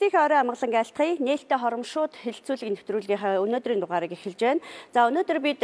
Эрхлэлтийн орой амгалан айлтгая нээлттэй хоромшууд хэлэлцүүлэг нэвтрүүлгийнхаа өнөөдрийн дугаарыг эхэлж байна. За өнөөдөр бид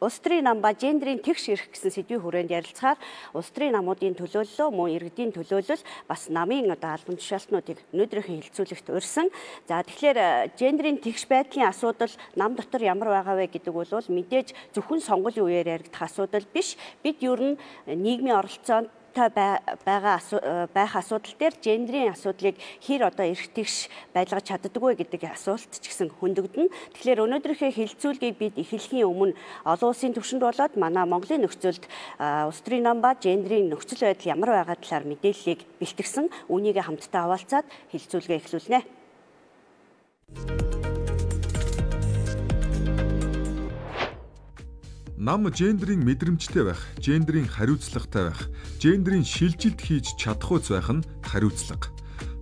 улс төрийн нам ба гендерийн тэгш эрх гэсэн сэдвийн хүрээнд ярилцахаар улс төрийн намуудын төлөөлөл, мөн иргэдийн төлөөлөл бас намын албан тушаалтнуудыг өнөөдрийнхээ хэлэлцүүлэгт урьсан. За тэгэхээр гендерийн тэгш байдлын асуудал нам дотор ямар байгаа вэ гэдэг бол мэдээж зөвхөн сонгуулийн үеэр яригдах асуудал биш. Бид ер нь нийгмийн оролцоонд байх асуудал дээр гендерийн асуудлыг хэр одоо эрх тэгш байлгаж чаддаггүй гэдэг асуулт ч гэсэн хөндөгдөн. Тэгэхээр өнөөдрийнхээ хэлэлцүүлгийг бид эхлэхийн өмнө олон улсын түвшинд болоод манай Монголын нөхцөлд улс төрийн нам ба гендерийн нөхцөл байдал ямар байгаа талаар мэдээллийг бэлтгэсэн. Үүнийг хамтдаа хаваалцаад хэлэлцүүлгээ эхлүүлнэ. Нам гендерийн мэдрэмжтэй байх, гендерийн хариуцлагатай байх, гендерийн шилжилт хийж чадахуйц байх нь хариуцлага.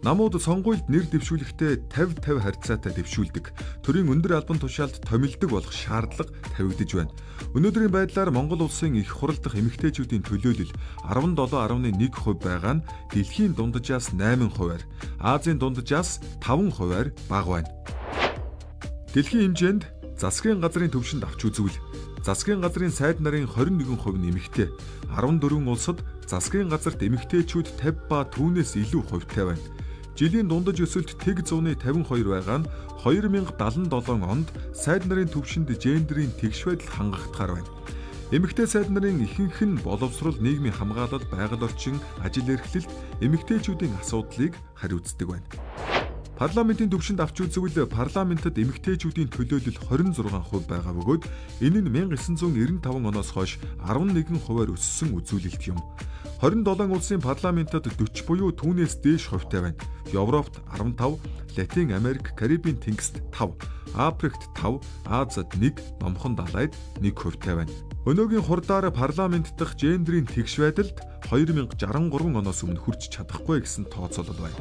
Намууд сонгуульд нэр дэвшүүлэхдээ 50-50 харьцаатай дэвшүүлдэг. Төрийн өндөр албан тушаалд томилдог болох шаардлага тавигдж байна. Өнөөдрийн байдлаар Монгол улсын их хурал дахь эмэгтэйчүүдийн төлөөлөл 17.1% байгаа нь дэлхийн дунджаас 8%-аар, Азийн дунджаас 5%-аар бага байна. Дэлхийн хэмжээнд засгийн газрын төвшөнд авч үзвэл засгийн газрын сайд нарын 21% нь эмэгтэй, 14 улсад засгийн газарт эмэгтэйчүүд 50 ба түүнээс илүү хувьтай байна. Жилийн дундаж өсөлт тэг 152 байгаа нь 2077 онд сайд нарын төвшөнд гендерийн тэгш байдал хангагдахаар байна. Эмэгтэй сайд нарын ихэнх нь боловсрол, нийгмийн хамгаалал, байгаль орчин, ажил эрхлэлт, эмэгтэйчүүдийн асуудлыг хариуцдаг байна. Парламентын төвшөнд авч үзвэл парламентод эмэгтэйчүүдийн төлөөлөл 26% байгаа бөгөөд энэ нь 1995 оноос хойш 11%-аар өссөн үзүүлэлт юм. 27 улсын парламентод 40 буюу түүнээс дээш хувьтай байна. Европт 15, Латин Америк, Карибын тэнгист 5, Африкт 5, Азад 1, Номхон далайд 1 хувьтай байна. Өнөөгийн хурдаар парламент дахь гендерийн тэгш байдалд 2063 оноос өмнө хүрч чадахгүй гэсэн тооцоолол байна.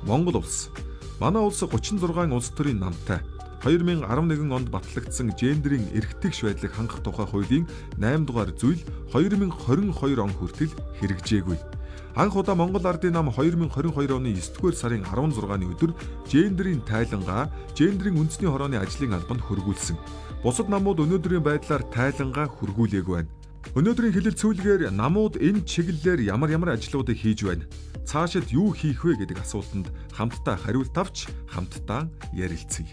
Монгол улс. Манай улс 36 улс төрийн намтай. 2011 онд батлагдсан гендерийн эрх тэгш байдлыг хангах тухай хуулийн 8 дугаар зүйл 2022 он хүртэл хэрэгжээгүй. Анх удаа Монгол Ардын нам 2022 оны 9-р сарын 16-ны өдөр гендерийн тайлангаа, гендерийн үндэсний хорооны ажлын албанд хөргүүлсэн. Бусад намууд өнөөдрийн байдлаар тайлангаа хөргүүлээгүй байна. Өнөөдрийн хэлэлцүүлгээр намууд энэ чиглэлээр ямар ажлуудыг хийж байна? Цаашид юу хийх вэ гэдэг асуултанд хамтдаа хариулт авч хамтдаа ярилцъя.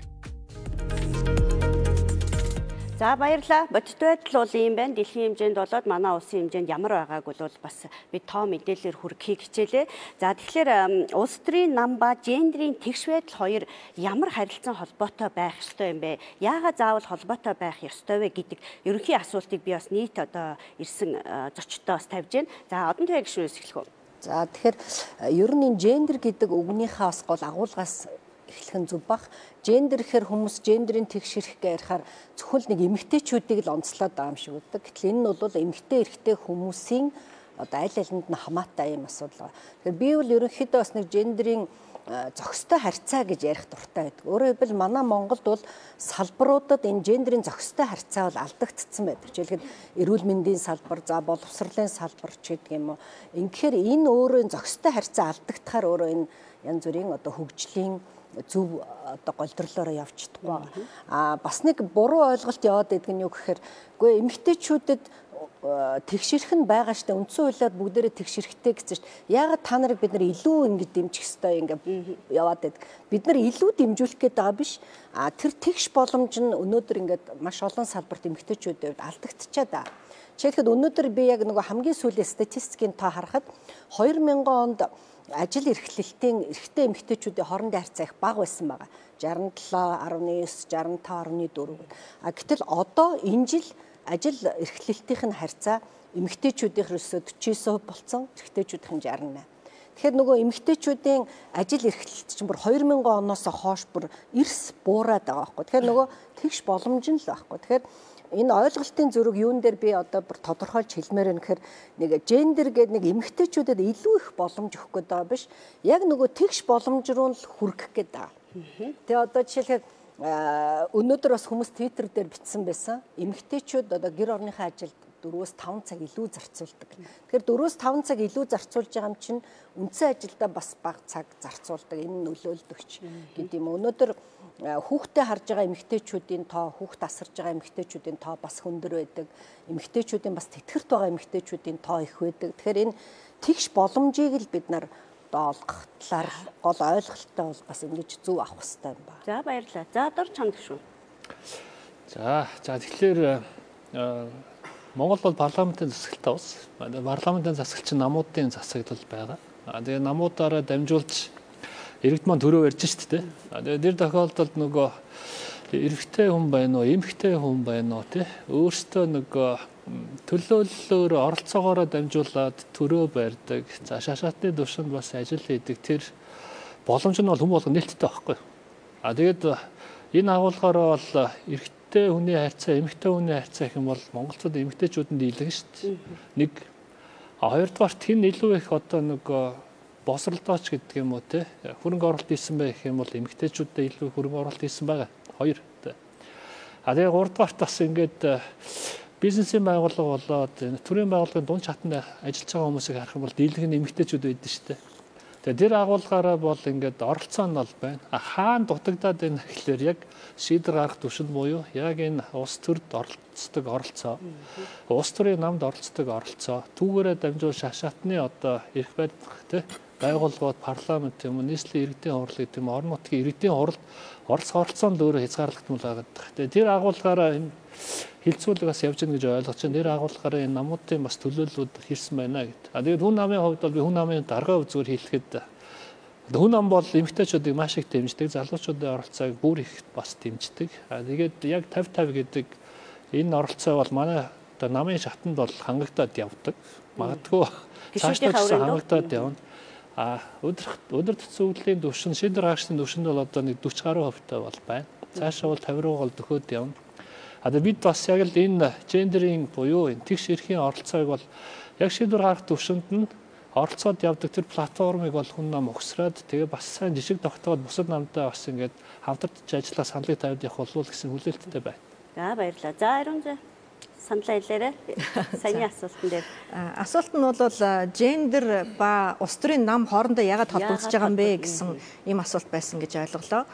За баярлалаа. Бодит байдал бол ийм байна. Дэлхийн хэмжээнд болоод манай улсын хэмжээнд ямар байгааг бол бас би тоо мэдээлэлээр хүргэхийг хичээлээ. За тэгэхээр улс төрийн нам ба гендерийн тэгш байдал хоёр ямар харилцан холбоотой байх ёстой юм бэ? Яагаад заавал холбоотой байх ёстой вэ гэдэг ерөнхий асуултыг би бас нийт одоо ирсэн зочдтой бас тавьж байна. За одон тоо гишүүнээс эхлэх үү? За тэгэхээр ер нь энэ гендер гэдэг үгнийхээ бас гол агуулгаас эхлэх нь зөв бах. Гендер гэхээр хүмүүс гендерийн тэгш эрх гэж ярихаар зөвхөн нэг эмэгтэйчүүдийг л онцлоод байгаа юм шиг үүдэг. Гэтэл энэ нь бол эмэгтэй эрхтэй хүмүүсийн одоо аль алинд нь хамаатай юм асуудал байна. Тэгэхээр би бол ерөнхийдөө бас нэг гендерийн зохистой харьцаа гэж ярих дуртай байдаг. Өөрөөр хэлбэл манай Монголд бол салбаруудад энэ гендерийн зохистой харьцаа бол алдагдцсан байдаг. Жишээлбэл эрүүл мэндийн салбар, за боловсролын салбар ч гэдэг юм уу. Ингэхээр энэ өөрөө зохистой харьцаа алдагдахаар өөрөө энэ янз бүрийн одоо хөгжлийн зөв одоо голдрлоороо явж чадахгүй. Бас нэг буруу ойлголт яваад байдаг нь юу гэхээр үгүй эмэгтэйчүүдэд тэгшэрх нь байгаа штэ үндсэн хуулиар бүгдээрээ тэгшэрхтэй гэсэн чинь яагаад та нарыг бид нар илүү ингэ дэмжих ёстой ингэ яваад байдаг. Бид нар илүү дэмжүүлэх гээд байгаа биш. Тэр тэгш боломж нь өнөөдөр ингээд маш олон салбарт эмэгтэйчүүдийн хувьд алдагдчихад байгаа. Жишээлбэл өнөөдөр би яг нөгөө хамгийн сүүлийн статистикийн тоо харахад 2000 онд ажил эрхлэлтийн эрхтэй эмэгтэйчүүдийн хоорондын харьцаа их бага байсан байгаа. 67.9, 65.4. Гэтэл одоо энэ жил ажил эрхлэлтийн харьцаа эмэгтэйчүүдийн ерөөсөө 49% болсон, эрэгтэйчүүдийн 68. Тэгэхээр нөгөө эмэгтэйчүүдийн ажил эрхлэлт чинь бүр 2000 оноос хойш бүр эрс буураад байгаа байхгүй. Тэгэхээр нөгөө тэгш боломж нь л байхгүй. Тэгэхээр энэ ойлголтын зөрүүг юун дээр би одоо бүр тодорхойлж хэлмээр байна гэхээр нэг гендер гэдэг нэг эмэгтэйчүүдэд илүү их боломж өгөх гээд байгаа биш. Яг нөгөө тэгш боломж руу л хүргэх гээд байгаа. Тэгээ одоо жишээлбэл өнөөдөр бас хүмүүс Twitter дээр бичсэн байсан. Эмэгтэйчүүд одоо гэр орныхаа ажилд 4-5 цаг илүү зарцуулдаг. Тэгэхээр 4-5 цаг илүү зарцуулж байгаа юм чинь үндсэн ажилдаа бас бага цаг зарцуулдаг. Энэ нь нөлөөлдөгч гэдэг юм. Өнөөдөр хүүхдээ харж байгаа эмэгтэйчүүдийн тоо, хүүхд асарж байгаа эмэгтэйчүүдийн тоо бас хөндөр байдаг. Эмэгтэйчүүдийн бас тэтгэрт байгаа эмэгтэйчүүдийн тоо их байдаг. Тэгэхээр энэ тэгш боломжийг л бид нар олгох талаар гол ойлголттой бол бас ингэж зөв авах хэрэгтэй юм байна. За баярлалаа. За дор чамд шүү. За тэгэхээр Монгол бол парламентын засаглалтай улс. Парламентын засаглал чинь намуудын засаглал байгаа. Тэгээ намуудаараа дамжуулж иргэд маань төрөө ярьж шүү дээ. Тэгээ нэр тохиолдолд нөгөө эрэгтэй хүн байна уу, эмэгтэй хүн байна уу тий. Өөртөө нөгөө төлөөллөөр оролцоогоороо дамжуулаад төрөө барьдаг. За шашаатны төвшөнд бас ажил хийдэг. Тэр боломж нь бол хүн болгон нээлттэй байхгүй. Тэгээд энэ агуулгаараа бол эрэгтэй хүний харьцаа, эмэгтэй хүний харьцаа гэх юм бол монголчууд эмэгтэйчүүдэнд дийлэн шүү дээ. Нэг хоёрдугаарт хэн илүү их одоо нөгөө босролдооч гэдэг юм уу те хөрөнгө оруулалт хийсэн байх юм бол эмэгтэйчүүдэд илүү хөрөнгө оруулалт хийсэн байгаа. Хоёр. Тэгээ гуравдугаарт бас ингээд бизнесийн байгууллага болоод төрийн байгууллагын дунд чатанд ажиллаж байгаа хүмүүсийг харах юм бол дийлэнх нь эмэгтэйчүүд байдаг шүү дээ. Тэгээ тэр агуулгаараа бол ингээд оролцоо нь бол байна. Хаана дутагдаад байна гэхэлэр яг шийдвэр гаргах түвшинд буюу яг энэ улс төрд оролцдог оролцоо. Улс төрийн намд оролцдог оролцоо. Түүгээрээ дамжуул шашаатны одоо эрх барих те байгууллагууд парламент юм уу нийслэлийн иргэдийн хурал гэдэг юм орон нутгийн иргэдийн хурал оролцоонд өөрөө хязгаарлагдмал байгаа. Тэгээ тэр агуулгаараа энэ хилцүүлэг бас явж гэнэ гэж ойлгож байна. Тэр агуулгаараа энэ намуудын бас төлөөллүүд хийсэн байна гэдэг. Тэгээд хүн намын хувьд бол би хүн намын дарга үзүүр хэлэхэд хүн нам бол эмэгтэйчүүдийг маш их дэмждэг, залуучуудын оролцоог бүр их бас дэмждэг. Тэгээд яг 50-50 гэдэг энэ оролцоо бол манай одоо намын шатанд бол хангагдаад явдаг. Магадгүй цаашдаа хангагдаад явна. Өдөр төцөөллийн түвшин, шийдвэр гаргахын түвшинд бол одоо нэг 40 гаруй хувьтай бол байна. Цаашаа бол 50 руу бол дөхөөд явна. Бид бас яг л энэ гендерийн буюу энэ тэгш эрхийн оролцоог бол яг шийдвэр гаргах түвшинд нь оролцоод явдаг тэр платформыг бол хүн нам өгсрээд тэгээ бас сайн жишг тогтоогод бусад намдаа бас ингээд хамтарч ажиллах саналыг тавьд явах болов гэсэн хүлээлттэй байна. За баярлалаа. За Ариун саналаа хэлээрэй. Саяны асуултан дээр. Асуулт нь бол гендер ба улс төрийн нам хоорондоо яагаад холбогдож байгаа юм бэ гэсэн ийм асуулт байсан гэж ойлголоо.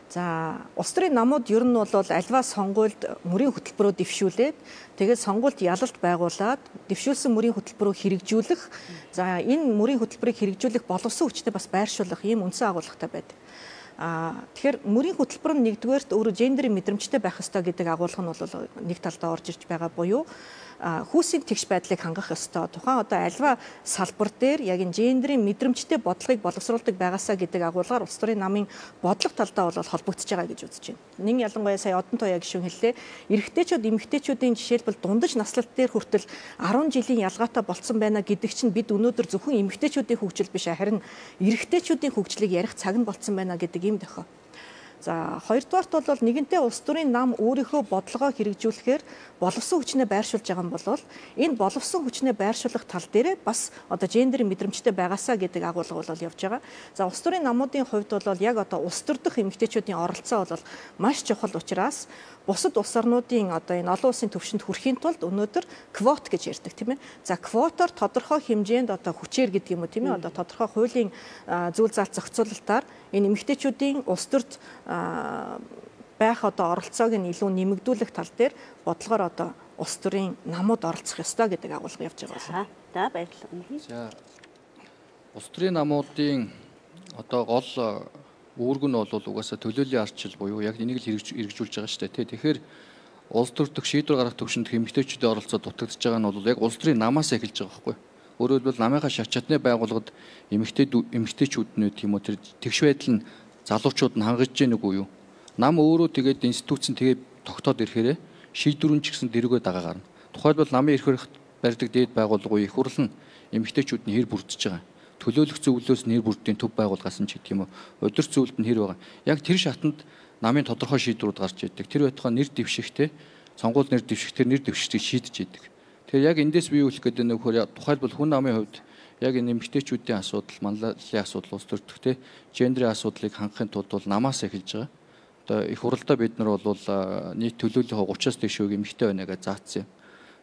За улс төрийн намууд ер нь бол альва сонгуульд мөрийн хөтөлбөрөөр дэвшүүлээд тэгээд сонгуульд ялалт байгуулад дэвшүүлсэн мөрийн хөтөлбөрөөр хэрэгжүүлэх. За энэ мөрийн хөтөлбөрийг хэрэгжүүлэх боловсон хүчтэй бас байршуулах ийм үндсэн агуулгатай байдаг. Тэгэхээр мөрийн хөтөлбөр нь нэгдүгээрт өөрөө гендерийн мэдрэмжтэй байх ёстой гэдэг агуулга нь бол нэг талдаа орж ирж байгаа буюу хүүсийн тэгш байдлыг хангах ёстой. Тухайн одоо альва салбар дээр яг энэ гендерийн мэдрэмжтэй бодлогыг боловсруулдаг байгаасаа гэдэг агуулгаар улс төрийн намын бодлого талдаа бол холбогдож байгаа гэж үзэж байна. Нэг ялангуяа сая Одон Туяа гишүүн хэллээ. Эрэгтэйчүүд эмэгтэйчүүдийн жишээлбэл дундаж наслалт дээр хүртэл 10 жилийн ялгаатай болцсон байна гэдэг чинь бид өнөөдөр зөвхөн эмэгтэйчүүдийн хөгжил биш харин эрэгтэйчүүдийн хөгжлийг ярих цаг нь болцсон байна гэдэг ийм дохио. За хоёрдугаарт бол нэгэнтээ улс төрийн нам өөрийнхөө бодлогоо хэрэгжүүлэхээр боловсон хүчнээ байршуулж байгаа юм бол энэ боловсон хүчнээ байршуулах тал дээр бас одоо гендерийн мэдрэмжтэй байгаасаа гэдэг агуулга бол явж байгаа. За улс төрийн намуудын хувьд бол яг одоо улс төр дэх эмэгтэйчүүдийн оролцоо бол маш чухал учраас бусад улс орнуудын одоо энэ олон улсын түвшинд хүрэхийн тулд өнөөдөр квот гэж ярьдаг тийм ээ. За квотоор тодорхой хэмжээнд одоо хүчээр гэдэг юм уу тийм ээ. Одоо тодорхой хуулийн зүйл заалт зохицуулалтаар энэ эмэгтэйчүүдийн улс төрд байх одоо оролцоог нь илүү нэмэгдүүлэх тал дээр бодлогоор одоо улс төрийн намууд оролцох ёстой гэдэг агуулга явж байгаа байна. За баярлалаа. За улс төрийн намуудын одоо гол үүрэг нь бол угаасаа төлөөллийн арчил буюу яг энийг л хэрэгжүүлж байгаа шүү дээ. Тэгэхээр улс төр дэх шийдвэр гаргах төвшөнд эмэгтэйчүүдийн оролцоо дутагдж байгаа нь бол яг улс төрийн намаас эхэлж байгаа байхгүй. Өөрөөр хэлбэл намынхаа шатны байгууллагад эмэгтэйчүүд нь тийм үү тэр тэгш байдал нь залуучууд нь хангаж гэнэ үгүй юу? Нам өөрөө тэгээд институцэн тэгээд тогтоод ирэхээр шийдвэрүүн ч гэсэн дэрүүгээ дагаа гарна. Тухайлбал намын эрх барих барьдаг дээд байгууллагын их хурл нь эмэгтэйчүүд нь хэр бүрдэж байгаа. Төлөөлөх зөвлөлөөс нэр бүрдийн төв байгуулгаас нь ч гэдэг юм уу. Удирч зөвлөлд нь хэр байгаа. Яг тэр шатанд намын тодорхой шийдвэрүүд гарч идэг. Тэр байтугай нэр дэвшихтэй сонгуул нэр дэвших тэр нэр дэвшигчийг шийдэж идэг. Тэгэхээр яг эндээс бий үлэх гэдэг нь нөхөр тухайлбал хүн намын хувьд яг энэ эмэгтэйчүүдийн асуудал, манлайлалын асуудал, улс төрдөх те гендерийн асуудлыг хангахын тулд бол намаас эхэлж байгаа. Одоо их хуралдаа бид нар бол нийт төлөөллийн 30-аас дээш эмэгтэй байна гэж заасан юм.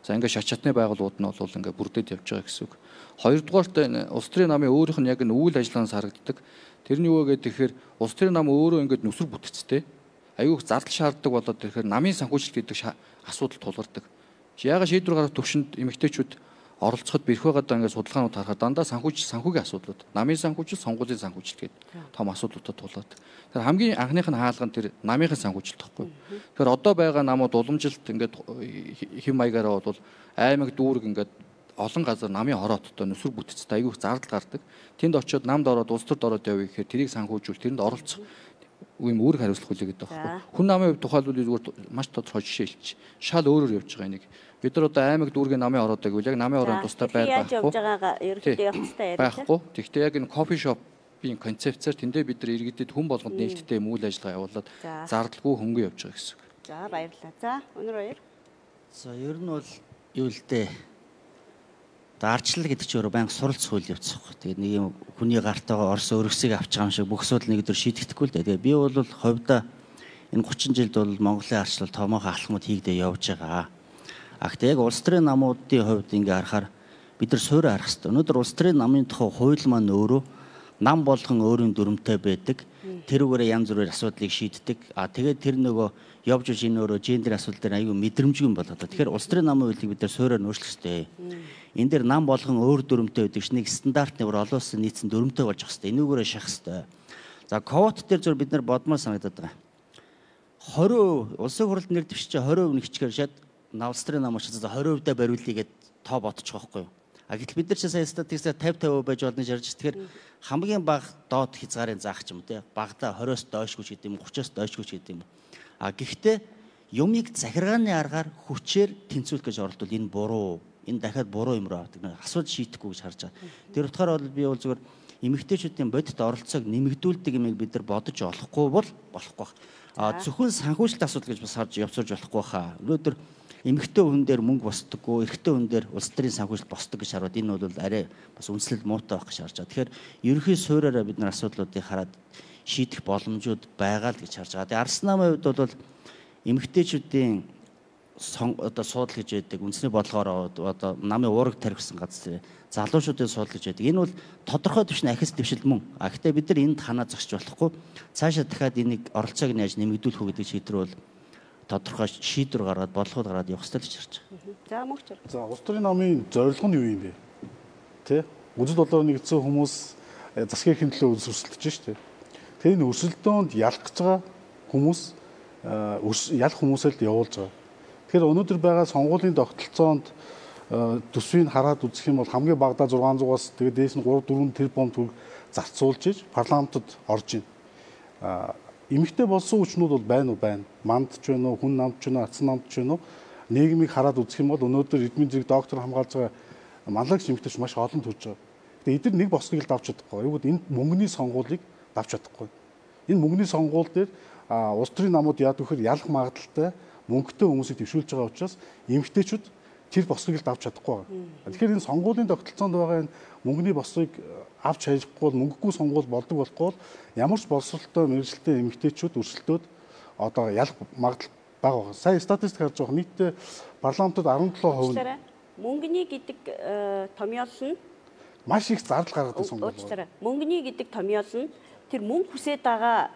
За ингээд шат чатны байгууллагууд нь бол ингээд бүрдээд явж байгаа гэсэн үг. Хоёрдугаарт энэ улс төрийн намын өөрийнх нь яг энэ үйл ажиллагаанаас харагддаг. Тэрний юу вэ гэхээр улс төрийн нам өөрөө ингээд нүсэр бүтцтэй. Аюу их зардал шаарддаг болоод тэгэхээр намын санхүүжилт гэдэг асуудал тулгардаг. Яагаад шийдвэр гаргах төвшөнд эмэгтэйчүүд оролцоход бэрх байгаадаа ингээд судалгаанууд харахад дандаа санхүүгийн асуудлууд, намын санхүүжилт, сонгуулийн санхүүжилт гэдэг том асуудлуудад тулгардаг. Тэгэхээр хамгийн анхных нь хаалга нь тэр намынхын санхүүжилт тахгүй. Тэгэхээр одоо байгаа намууд уламжилт ингээд хэм маягаараа бол аймаг дүүрэг ингээд олон газар намын хорооттой нүсэр бүтцтэй аюу их зардал гардаг. Тэнд очиод намд ороод улс төрд ороод явъя гэхээр тэрийг санхүүжүүл тэрэнд оролцох үеийн үүрэг хариуцлах хүлээ гэдэг байна. Хүн намын хувьд тухайлбал зүгээр маш тодорхой жишээ хэлчих. Шал өөрөөр явж байгаа нэг. Бид нар одоо аймаг дүүргийн намын ороод байвал яг намын ороод тустай байх байхгүй. Яаж явж байгаагаа ерөнхийдөө явах хэрэгтэй яриа. Байхгүй. Тэгэхдээ яг энэ кофе шопын концепцээр тэндээ бид нар иргэдэд хүн болгонд нээлттэй үйл ажиллагаа явуулаад зардалгүй хөнгөн явж байгаа гэсэн үг. За баярлалаа. За өнөр баяр. За ер нь бол юу л дээ. Ардчлал гэдэг чинь өөрөө байнга суралцах үйл явц байхгүй. Тэгээд нэг юм хүний гартайгаа Орос өргөсийг авч байгаа юм шиг бүх асуудал нэг өдөр шийдэгдэхгүй л дээ. Тэгээд би бол хувьдаа энэ 30 жилд бол Монголын ардчлал томоохон алхмууд хийгдээ явж байгаа. Гэхдээ яг улс төрийн намуудын хувьд ингээ харахаар бид нар суурь харах хэрэгтэй. Өнөөдөр улс төрийн намын тухай хууль маань өөрөө нам болгон өөрийн дүрмтэй байдаг. Тэрүүгээрээ янз бүрээр асуудлыг шийддэг. Тэгээд тэр нөгөө явж иж энэ өөрөө гендер асуудал дээр аюу мэдрэмжгүй юм болоод. Тэгэхээр улс төрийн намын хуулийг бид нар суурьаар нөөцлөх хэрэгтэй. Энэ дээр нам болгон өөр дүрмтэй байдаг чинь нэг стандартны бүр олон улсын нийцэн дүрмтэй болж байгаа хэрэгтэй. Энүүгээрээ шахах хэрэгтэй. За ковот дээр зөв бид нар бодмоор санагдаад байгаа. 20% улсын хурлд нэр дэвшиж 20% нэг хичгээр шат улс төрийн нам учраас 20% даа бариулъя гэд тоо бодчих واخгүй юу. Гэтэл бид нар ч сая статистикээр 50-50% байж болно гэж ярьж. Тэгэхээр хамгийн бага доод хязгаарын заах ч юм те. Багада 20-оос доошгүй ч гэдэг юм, 30-оос доошгүй ч гэдэг юм. Гэхдээ юмыг захиргааны аргаар хүчээр тэнцвүүлэх гэж оролдвол энэ буруу. Энэ дахиад буруу юм руу авдаг. Асуудал шийдэхгүй гэж харж байгаа. Тэр утгаараа бол би бол зүгээр эмэгтэйчүүдийн бодит оролцоог нэмэгдүүлдэг юмыг бид нар бодож олохгүй бол болохгүй байна. Зөвхөн санхүүжилт асуудал гэж бас харж явцуулж болохгүй хаа. Өнөөдөр эмэгтэй хүн дээр мөнгө босдоггүй, эрэгтэй хүн дээр улс төрийн санхүүжилт босдог гэж хараад энэ бол арай бас үнслэл муутай байх гэж харж байгаа. Тэгэхээр ерөнхий суурьаараа бид нар асуудлуудыг хараад шийдэх боломжууд байгаа л гэж харж байгаа. Тэгээ Арс намын хувьд бол эмэгтэйчүүдийн одоо суудал гэж байдаг. Үндэсний бодлогоор одоо намын уураг тархисан газар залуучуудын суудал гэж байдаг. Энэ бол тодорхой төвшин ахис дэвшил мөн. Гэхдээ бид нар энд ханаа зогсож болохгүй. Цаашаа дахиад энийг оролцоог нь яаж нэмэгдүүлэх үү гэдэг шийдвэр бол тодорхой шийдвэр гаргаад бодлогод гараад явах хэрэгтэй гэж харж байгаа. За мөгчөр. За улс төрийн намын зорилго нь юу юм бэ? Тэ? Үзэл бодлоор нэгдсэн хүмүүс засгийн эрхийн төлөө өрсөлдөж шүү дээ. Тэр энэ өрсөлдөөнд ялах гэж байгаа хүмүүс ялах хүмүүсээр л явуулж байгаа. Тэгэхээр өнөөдөр байгаа сонгуулийн тогтолцоонд төсвийг хараад үзэх юм бол хамгийн багадаа 600-аас тэгээд дээш нь 3-4 тэрбум төгрөг зарцуулж иж парламентод орж ийн. Эмэгтэй болсон хүчнүүд бол байна уу? Байна. Мандч байна уу? Хүн намч байна уу? Атсан намч байна уу? Нийгмийг хараад үзэх юм бол өнөөдөр эдмийн зэрэг доктор хамгаалж байгаа манлагч эмэгтэйч маш олон төрж байгаа. Тэгээд эдгээр нэг босныг л давж чадахгүй. Юу гэвэл энэ мөнгөний сонгуулийг давж чадахгүй. Энэ мөнгөний сонгуул дээр улс төрийн намууд яадаг вэхээр ялах магадaltaй мөнгөтэй хүмүүсийг төвшүүлж байгаа учраас эмэгтэйчүүд тэр бослыг л давж чадахгүй байгаа. Тэгэхээр энэ сонгуулийн тогтолцоонд байгаа энэ мөнгөний бослыг авч хайхгүй бол мөнгөгүй сонгуул болдог болохгүй бол ямар ч боловсролтой мэргэжилтэй эмэгтэйчүүд өрсөлдөөд одоо ялах магадлал бага байгаа. Сая статистик харж байгаа нийтдээ парламентод 17% мөнгөний гэдэг томьёол нь маш их зардал гаргадаг сонгуул. Мөнгөний гэдэг томьёол нь тэр мөнгө хүсээд байгаа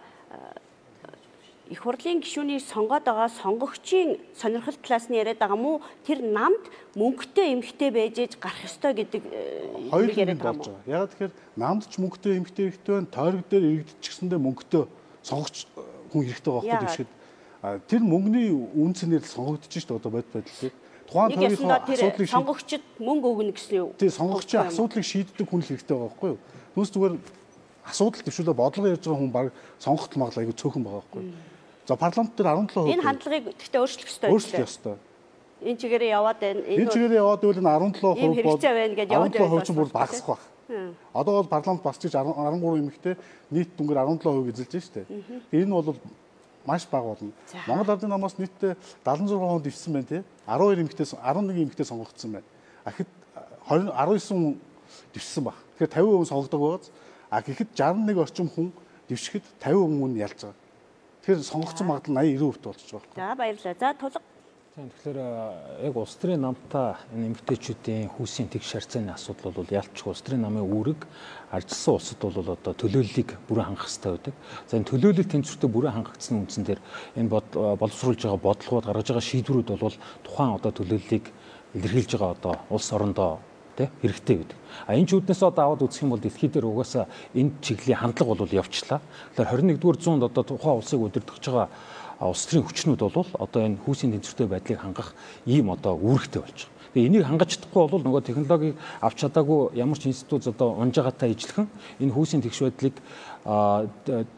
их хурлын гишүүнийг сонгоод байгаа сонгогчийн сонирхол талаас нь яриад байгаа мó тэр намд мөнгөтэй эмэгтэй байж ээж гарах ёстой гэдэг хоёр яриад байгаа юм. Яг тэгэхээр намд ч мөнгөтэй эмэгтэй хэрэгтэй байна, тойрог дээр иргэдчихсэндээ мөнгөтэй сонгогч хүн хэрэгтэй байгаа байхгүй гэшгэд тэр мөнгөний үнцнээр сонгогдож шүү дээ одоо байдал. Тухайн тойргийн асуудлыг сонгогчд мөнгө өгнө гэсэн юу? Тийм сонгогчийн асуудлыг шийддэг хүн л хэрэгтэй байгаа байхгүй юу? Түүнээс зүгээр асуудал төвшүүлээ бодлого ярьж байгаа хүн баг сонгогдол магадлал айгүй цөөхөн байгаа байхгүй юу? За парламент дээр 17%. Энэ хандлагыг гэхдээ өөрчлөх ёстой. Өөрчлөх ёстой. Энэ чигээрээ яваад байна. Энэ чигээрээ яваад байвал энэ 17% бол яваад чинь бүр багасах байх. Одоо бол парламент бас чиж 13 эмэгтэй нийт дүнгээр 17% эзэлж штэ. Энэ бол маш бага болно. Монгол Ардын намаас нийтдээ 76% дэвсэн байна тий. 12 эмэгтэй 11 эмэгтэй сонгогдсон байна. Ахид 19 дэвсэн баг. Тэгэхээр 50% сонгогдог байгааз гэхэд 61 орчим хүн дэвшихэд 50% нь ялж байгаа. Тэгэхээр сонгогдсон магадлал 80-90% болчих жоох. За баярлалаа. За тулга. Тэгэхээр яг улс төрийн намтай энэ эмэгтэйчүүдийн хүүсийн тэгш харьцааны асуудал бол ялцгүй улс төрийн намын үүрэг арчилсан улсад бол одоо төлөөллийг бүрэн хангах хэрэгтэй байдаг. За энэ төлөөлөл тэнцвэртэй бүрэн хангагдсны үндсэн дээр энэ боловсруулж байгаа бодлогууд гаргаж байгаа шийдвэрүүд бол тухайн одоо төлөөллийг илэрхийлж байгаа одоо улс орондоо хэрэгтэй байдаг. Энэ ч үднээс одоо аваад үзэх юм бол дэлхий дээр угаасаа энэ чиглэлийн хандлага бол явчлаа. Тэгэхээр 21-р зуунд одоо тухайн улсыг удирдах байгаа улс төрийн хүчнүүд бол одоо энэ хүүсийн тэнцвэртэй байдлыг хангах ийм одоо үүрэгтэй болж байгаа. Тэгээ энийг хангаж чадахгүй бол нөгөө технологиг авч чадаагүй ямар ч институт одоо унжаагаатай ижилхэн энэ хүүсийн тэгш байдлыг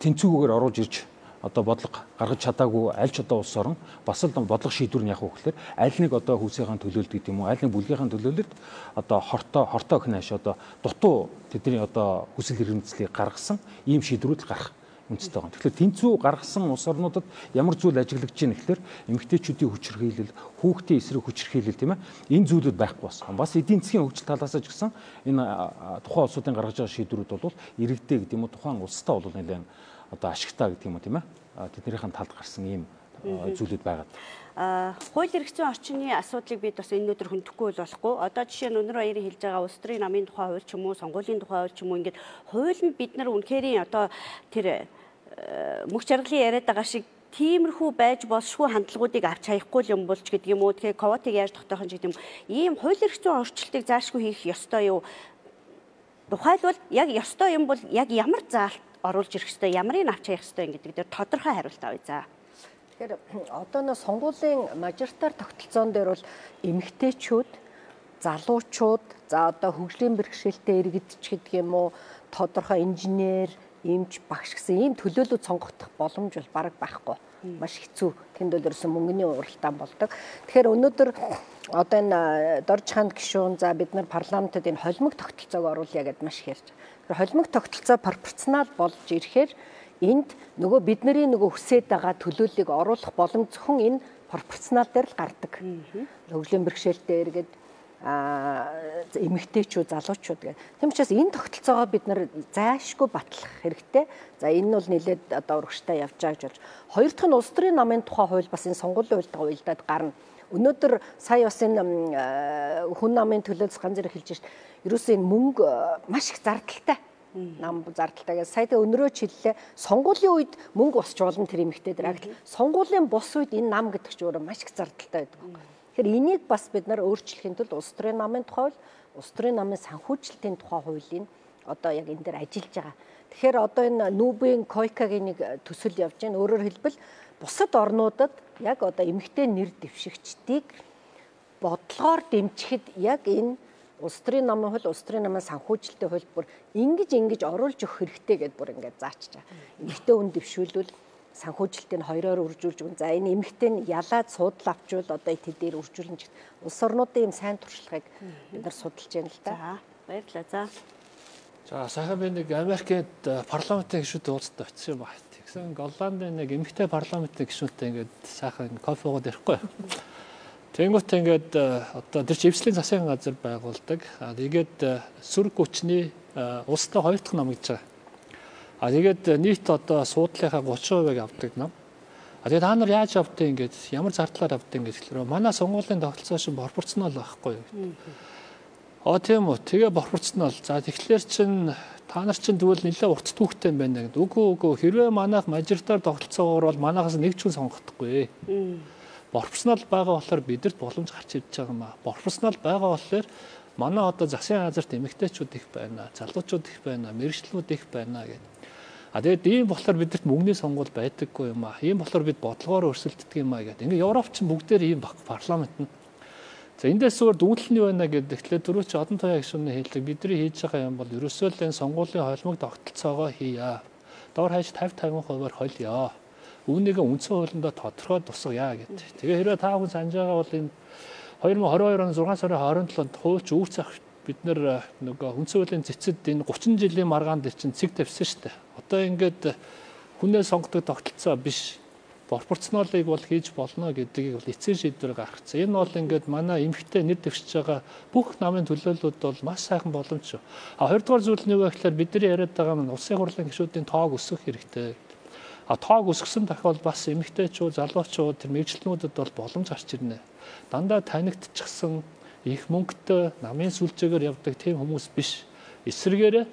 тэнцвүүгээр оруулж ирж одоо бодлого гаргаж чадаагүй аль ч одоо улс орон бас л бодлого шийдвэр нь яг уу гэхээр аль нэг одоо хүүсийнхаа төлөөлөлт гэдэг юм уу аль нэг бүлгийнхаа төлөөлөлт одоо хортой хнааш одоо дутуу тэдний одоо хүсэл эрмэлзлийг гаргасан ийм шийдвэрүүд л гарах үндэстэй байгаа. Тэгэхээр тэнцвүү гаргасан улс орнуудад ямар зүйл ажиглагдж байна гэхээр эмэгтэйчүүдийн хүчирхийлэл, хүүхдийн эсрэг хүчирхийлэл тийм ээ энэ зүйлүүд байхгүй болсон. Бас эдийн засгийн хөгжил талаас ч гэсэн энэ тухайн улсуудын гаргаж байгаа шийдвэрүүд бол иргэдээ гэдэг юм уу тухайн улстай бол нэлээд одоо ашигтай гэдэг юм уу тийм ээ тэднийхэн талд гарсан ийм зүйлүүд байгаад. Хууль эрх зүйн орчны асуудлыг бид бас энэ өдөр хөндөхгүй болохгүй. Одоо жишээ нь өнөр баярын хэлж байгаа улс төрийн намын тухай хууль ч юм уу, сонгуулийн тухай хууль ч юм уу ингээд хууль нь бид нар үнэхээр одоо тэр мөх жаргалын яриад байгаа шиг тиймэрхүү байж болшгүй хандлагуудыг авч хаяхгүй юм болж гэдэг юм уу. Тэгэхээр ковотыг яаж тогтоох юм гэдэг юм. Ийм хууль эрх зүйн орчлтыг заашгүй хийх ёстой юу? Тухайлбал яг ёстой юм бол яг ямар заалт оруулж ирэх ёстой, ямарыг авч хаях ёстой гэдэг дээр тодорхой хариулт авъя за. Тэгэхээр одоо нэг сонгуулийн мажоритар тогтолцоон дээр бол эмэгтэйчүүд, залуучууд, за одоо хөгжлийн бэрхшээлтэй иргэдч гэдэг юм уу, тодорхой инженер, эмч, багш гэсэн ийм төлөөлөл сонгогдох боломж бол бараг байхгүй. Маш хэцүү. Тэнд бол ерөөсөн мөнгөний уралдаан болдог. Тэгэхээр өнөөдөр одоо энэ Дорж ханд гишүүн за бид нар парламентод энэ холимог тогтолцоог оруулъя гэдээ маш их ярьж. Тэгэхээр холимог тогтолцоо пропорционал болж ирэхээр энд нөгөө бидний нөгөө хүсээд байгаа төлөөллийг оруулах боломж зөвхөн энэ пропорционал дээр л гардаг. Хөгжлийн бэрхшээлтэй иргэд эмэгтэйчүүд, залуучууд гэх. Тийм учраас энэ тогтолцоогоо бид нар зайлшгүй батлах хэрэгтэй. За энэ нь бол нэлээд одоо урагштай явж байгаа гэж болж. Хоёр дахь нь улс төрийн намын тухай хууль бас энэ сонгуулийн хуультай уялдаад гарна. Өнөөдөр сая бас энэ хүн намын төлөөс ганц зэрэг хэлж шít. Ерөөсөө энэ мөнгө маш их зардалтай. Нам зардалтай гэж сая тэ өнөрөө хэллээ. Сонгуулийн үед мөнгө босч болно тэр эмэгтэйдэр. Сонгуулийн бус үед энэ нам гэдэг ч өөрөө маш их зардалтай байдаг. Тэгэхээр энийг бас бид нар өөрчлөхийн тулд улс төрийн намын тухай хууль, улс төрийн намын санхүүжилтийн тухай хуулийн одоо яг энэ дээр ажиллаж байгаа. Тэгэхээр одоо энэ Нүүбийн койкагийн нэг төсөл явж байна. Өөрөөр хэлбэл бусад орнуудад яг одоо эмэгтэй нэр дэвшигчдийг бодлогоор дэмжихэд яг энэ улс төрийн намын хууль, улс төрийн намын санхүүжилтийн хууль бүр ингэж оруулж өгөх хэрэгтэй гэдээ бүр ингээд заачж байгаа. Эмэгтэй хүн дэвшүүлвэл санхүүжилтийг хоёроор үржүүлж өгнө. За энэ эмэгтэй нь ялаад суудлаа авчвал одоо тэдээр үржүүлнэ. Улс орнуудын ийм сайн туршлагыг бид нар судалж байна л да. За баярлалаа. За. За сайхан би нэг Америкт парламентын гишүүнтэй уулзсан очив юм байна. Тэгсэн Голландын нэг эмэгтэй парламентын гишүүнтэй ингээд сайхан кофе уугаад ирэхгүй. Тэнгүүт ингээд одоо тэр чивслийн засгийн газар байгуулдаг. Тэгээд сүрэг хүчний улстай хоёр дахь ном гэж байгаа. Тэгээд нийт одоо суудлынхаа 30%-ыг авдаг нам. Тэгээд та нар яаж авдیں ингээд ямар зардлаар авдیں гэж хэлэхээр манай сонгуулийн тогтолцоо шин пропорционал байхгүй юу. Тийм үү. Тэгээ пропорционал. За тэгэхээр чин та нар чин тэгвэл нэлээд урт түүхтэй юм байна гэдэг. Үгүй хэрвээ манайх мажоритар тогтолцоогоор бол манайхаас нэг ч хүн сонгохдоггүй. Пропорционал байгаа болохоор бидэрт боломж гарч ирж байгаа юм аа. Пропорционал байгаа болохоор манай одоо засгийн газарт эмэгтэйчүүд их байна, залуучууд их байна, мэргэжлүүд их байна гэдэг. Тэгээд ийм болохоор бидэрт мөнгөний сонгуул байдаггүй юм аа. Ийм болохоор бид бодлогоор өрсөлддөг юм аа гэдэг. Ингээ Европч бүгдээр ийм парламент нь. За эндээс өөр дүүдлэл нь байна гэдэг. Тэгэхээр түрүү чи одон тояа гишүүний хэлдэг бидний хийж байгаа юм бол ерөөсөө л энэ сонгуулийн холимог тогтолцоогоо хийя. Доор хаяж 50-50%-аар холё. Үүнийгээ үндсэн хуулиндаа тодорхой тусгая гэдэг. Тэгээ хэрвээ та хүн санаж байгаа бол энэ 2022 оны 6 сарын 27-нд хуульч үүрц авах бид нэр нөгөө үндсэн хуулийн цэцэд энэ 30 жилийн маргаан дээр чинь цэг тавьсан шүү дээ. Одоо ингээд хүнээ сонгодог тогтолцоо биш. Пропорционалыг бол хийж болно гэдгийг бол эцсийн шийдвэр гаргацсан. Энэ бол ингээд манай эмэгтэй нэр дэвшиж байгаа бүх намын төлөөллүүд бол маш сайхан боломж шүү. Хоёрдугаар зүйл нь юу вэ гэхээр бидний яриад байгаа нь улсын хурлын гишүүдийн тоог өсгөх хэрэгтэй. тоог өсгсөн тохиол бас эмэгтэйчүүд, залуучууд тэр мэрэгчлэнүүдэд бол боломж гарч ирнэ. Дандаа танигдчихсан их мөнгөтэй намын сүлжээгээр явдаг тийм хүмүүс биш. Эсвэргээр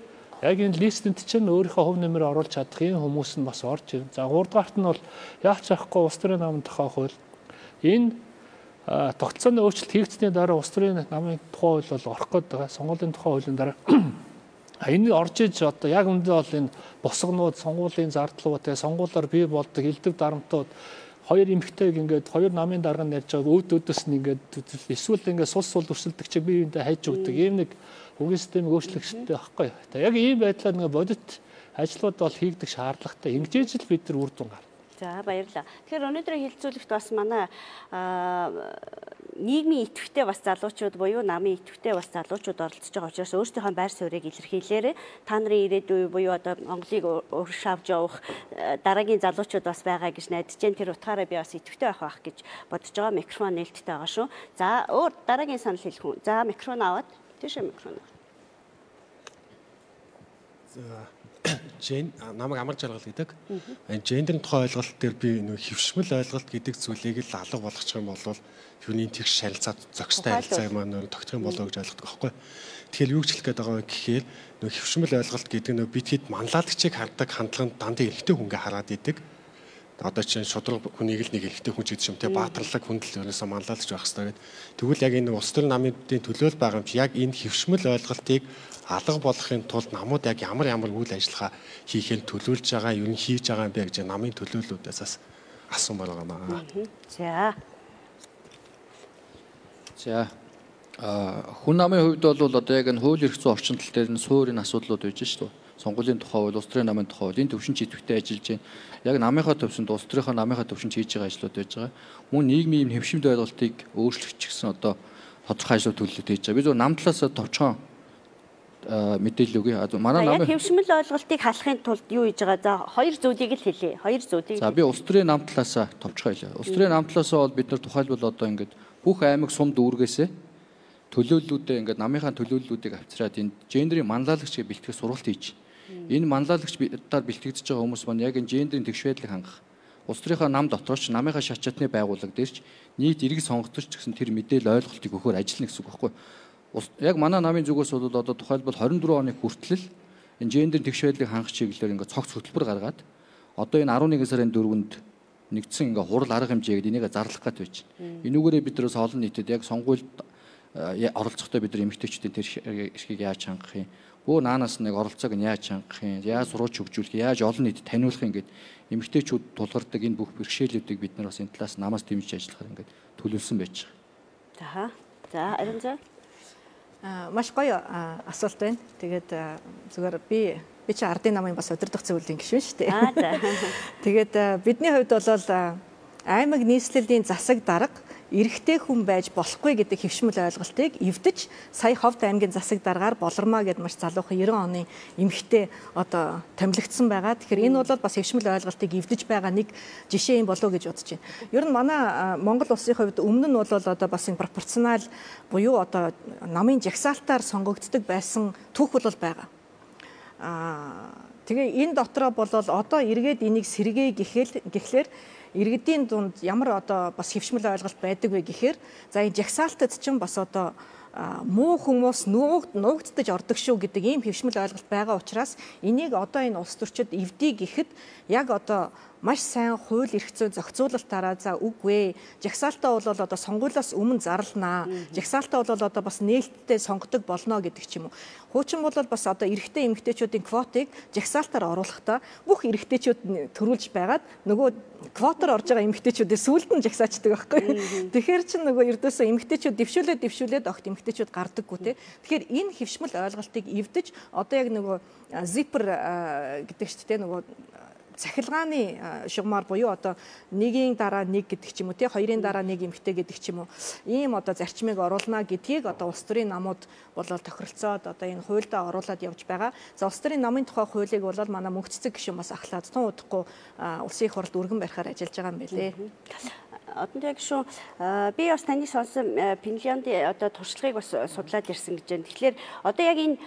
яг энэ листэнд чинь өөрийнхөө хувь нэмэр оруулж чадах ийм хүмүүс нь бас орж ирнэ. За 3 дугаарт нь бол яач ахгүй улс төрийн намын тухай хууль. Энэ тогтцооны өөрчлөлт хийгдсэний дараа улс төрийн намын тухай хууль бол орох гээд байгаа. Сонгуулийн тухай хуулийн дараа энэ орж иж одоо яг үндэ бол энэ босгонууд, сонгуулийн зардлууд, тэгээ сонгуулиар бий болдог элдв дарамтууд хоёр эмэгтэйг ингээд хоёр намын дарга нь ярьж байгааг өөдөөс нь ингээд эсвэл ингээд сул өрсөлдөг чиг бие биендээ хайж өгдөг ийм нэг үгийн системийг өөрчлөхтэй байхгүй. Тэгээ яг ийм байдлаар нэг бодит ажлууд бол хийгдэх шаардлагатай. Ингэж л бид нар үр дүн гарна. За баярлалаа. Тэгэхээр өнөөдрийн хэлэлцүүлэгт бас манай нийгмийн идэвхтэй бас залуучууд буюу намын идэвхтэй бас залуучууд оролцож байгаа учраас өөрсдийнхөө байр суурийг илэрхийлээрэй. Та нарын ирээдүй буюу одоо Монголыг урагш авч явах дараагийн залуучууд бас байгаа гэж найдаж байна. Тэр утгаараа би бас идэвхтэй байх гэж бодож байгаа. Микрофон нээлттэй байгаа шүү. За өөр дараагийн санал хэлэх хүн. За микрофон аваад тийш микрофон. Намайг амар жаргал гэдэг. Гендерийн тухай ойлголт дээр би нэг хөвшмөл ойлголт гэдэг зүйлийг л алга болгочих юм бол юуны тэгш шалилцаад зохистой харилцаа маань тогтох юм болоо гэж ойлгодог байхгүй. Тэгэхээр юу ч хэлэх гээд байгаа гэхээр нэг хөвшмөл ойлголт гэдэг нь бид хэд манлайлагчийг хардаг хандлаганд дандаа эрэгтэй хүнгээ хараад идэг. Одоо чинь шудраг хүнийг л нэг эрэгтэй хүн ч гэдэг юм те баатарлаг хүндэл өрөөсөө манлайлагч байх хэрэгтэй гэдэг. Тэгвэл яг энэ улс төрийн намын төлөөл байгаа юм чи яг энэ хөвшмөл ойлголтыг алга болохын тулд намууд яг ямар үйл ажиллагаа хийхээ төлөвлөж байгаа, юу нь хийж байгаа юм бэ гэж намын төлөөллүүдээс бас асуумаар байгаа маа. За хүн намын хувьд бол одоо яг энэ хууль эрх зүйн орчин тал дээр нь суурийн асуудлууд байж шүү дээ. Сонгуулийн тухай бол улс төрийн намын тухай бол энэ төвшинч идэвхтэй ажиллаж байна. Яг намынхаа төвшөнд улс төрийнхөө намынхаа төвшинч хийж байгаа ажлууд байж байгаа. Мөн нийгмийн хэмшимд ойлголтыг өөрчлөх ч гэсэн одоо тодорхой ажлууд төлөвлөлт хийж байгаа. Би зөв нам талаас товчхон мэдээлэл өгье. Манай намын хэмшмэл ойлголтыг халахын тулд юу хийж байгаа? За хоёр зүйлийг л хэлье. Хоёр зүйлийг. За би улс төрийн нам талаас товчхон хэлье. Улс төрийн нам талаас бол бид нар тухайлбал одоо ингээд бүх аймаг сум дүүргээсээ төлөөллүүдээ ингээд намынхаа төлөөллүүдийг авчираад энэ гендерийн манлайлагч гэж бэлтгэх сургалт хийж. Энэ манлайлагчдаар бэлтгэгдэж байгаа хүмүүс маань яг энэ гендерийн тэгш байдлыг хангах. Улс төрийнхөө нам дотроос намынхаа шат чатны байгууллага дээрч нийт иргэн сонгогдож гэсэн тэр мэдээлэл ойлголтыг өгөхөөр ажиллана гэсэн үг байхгүй. Яг манай намын зүгээс бол одоо тухайлбал 24 оны хүртэл энэ гендерийн тэгш байдлыг хангах чиглэлээр ингээд цогц хөтөлбөр гаргаад одоо энэ 11 сарын 4-нд нэгдсэн ингээ хурал арга хэмжээ гэдэг энийг зарлах гэж байж байна. Энүүгээрээ бид нэрс олон нийтэд яг сонгуульд оролцохдоо бид нар эмэгтэйчүүдийн тэр эрхийг яаж хангах юм? Бөө наанаас нэг оролцоог нь яаж хангах юм? Яаж сурууч хөгжүүлэх, яаж олон нийтэд таниулах юм гээд эмэгтэйчүүд тулгардаг энэ бүх бэрхшээлүүдийг бид нар бас энэ талаас намаас дэмжиж ажиллахаар ингээд төлөвлөсөн байж За. байгаа. За, Арин заа. Маш гоё асуулт байна. Тэгээд зүгээр би чи ардын намын бас удирдах зөвлөлийн гишүүн шүү дээ. Тэгээд бидний хувьд бол аймаг нийслэлийн засаг дарга эрэгтэй хүн байж болохгүй гэдэг хэвшмэл ойлголтыг эвдэж сая Ховд аймгийн засаг даргаар Болормаа гэдэг маш залуухан 90 оны эмэгтэй одоо томилогдсон байгаа. Тэгэхээр энэ бол бас хэвшмэл ойлголтыг эвдэж байгаа нэг жишээ юм болов уу гэж бодож байна. Ер нь манай Монгол улсын хувьд өмнө нь бол одоо бас энэ пропорционал буюу одоо намын жагсаалтаар сонгогддог байсан түүх бол байгаа. Тэгээ энэ дотроо бол одоо эргээд энийг сэргээе гэхлээр иргэдийн дунд ямар одоо бас хэвшмэл ойлголт байдаг вэ гэхээр за энэ жагсаалтад чинь бас одоо муу хүмүүс нуугддаж ордог шүү гэдэг ийм хэвшмэл ойлголт байгаа учраас энийг одоо энэ улс төрчид эвдий гэхэд яг одоо маш сайн хууль эрх зүйн зохицуулалтаараа за үгүй жагсаалтаа бол одоо сонгуулиас өмнө зарлнаа. Жагсаалтаа бол одоо бас нээлттэй сонгодог болно гэдэг ч юм уу. Хуучин бол бас одоо эрэгтэй эмэгтэйчүүдийн квотыг жагсаалтаар оруулахдаа бүх эрэгтэйчүүд төрүүлж байгаад нөгөө квотоор орж байгаа эмэгтэйчүүдээ сүүлд нь жагсаачдаг байхгүй. Тэгэхээр чинь нөгөө эрдөөсөө эмэгтэйчүүд дэвшүүлээд огт эмэгтэйчүүд гардаггүй те. Тэгэхээр энэ хэвшмэл ойлголтыг эвдэж одоо яг нөгөө зипер гэдэг чинь те нөгөө цахилгааны шугамар буюу одоо нэгийн дараа нэг гэдэг ч юм уу тий хоёрын дараа нэг эмэгтэй гэдэг ч юм уу ийм одоо зарчмыг оруулна гэдгийг одоо улс төрийн намууд бол тохиролцоод одоо энэ хуульдаа оруулаад явж байгаа. За улс төрийн намын тухай хуулийг бол манай мөнх цэцэг гишүүн бас ахлаад тун удахгүй улсын их хурлд өргөн барихаар ажиллаж байгаа юм байлээ. Одонтой гишүүн би бас таны сонсон Финляндийн одоо туршлагыг бас судлаад ирсэн гэж байна. Тэгэхээр одоо яг энэ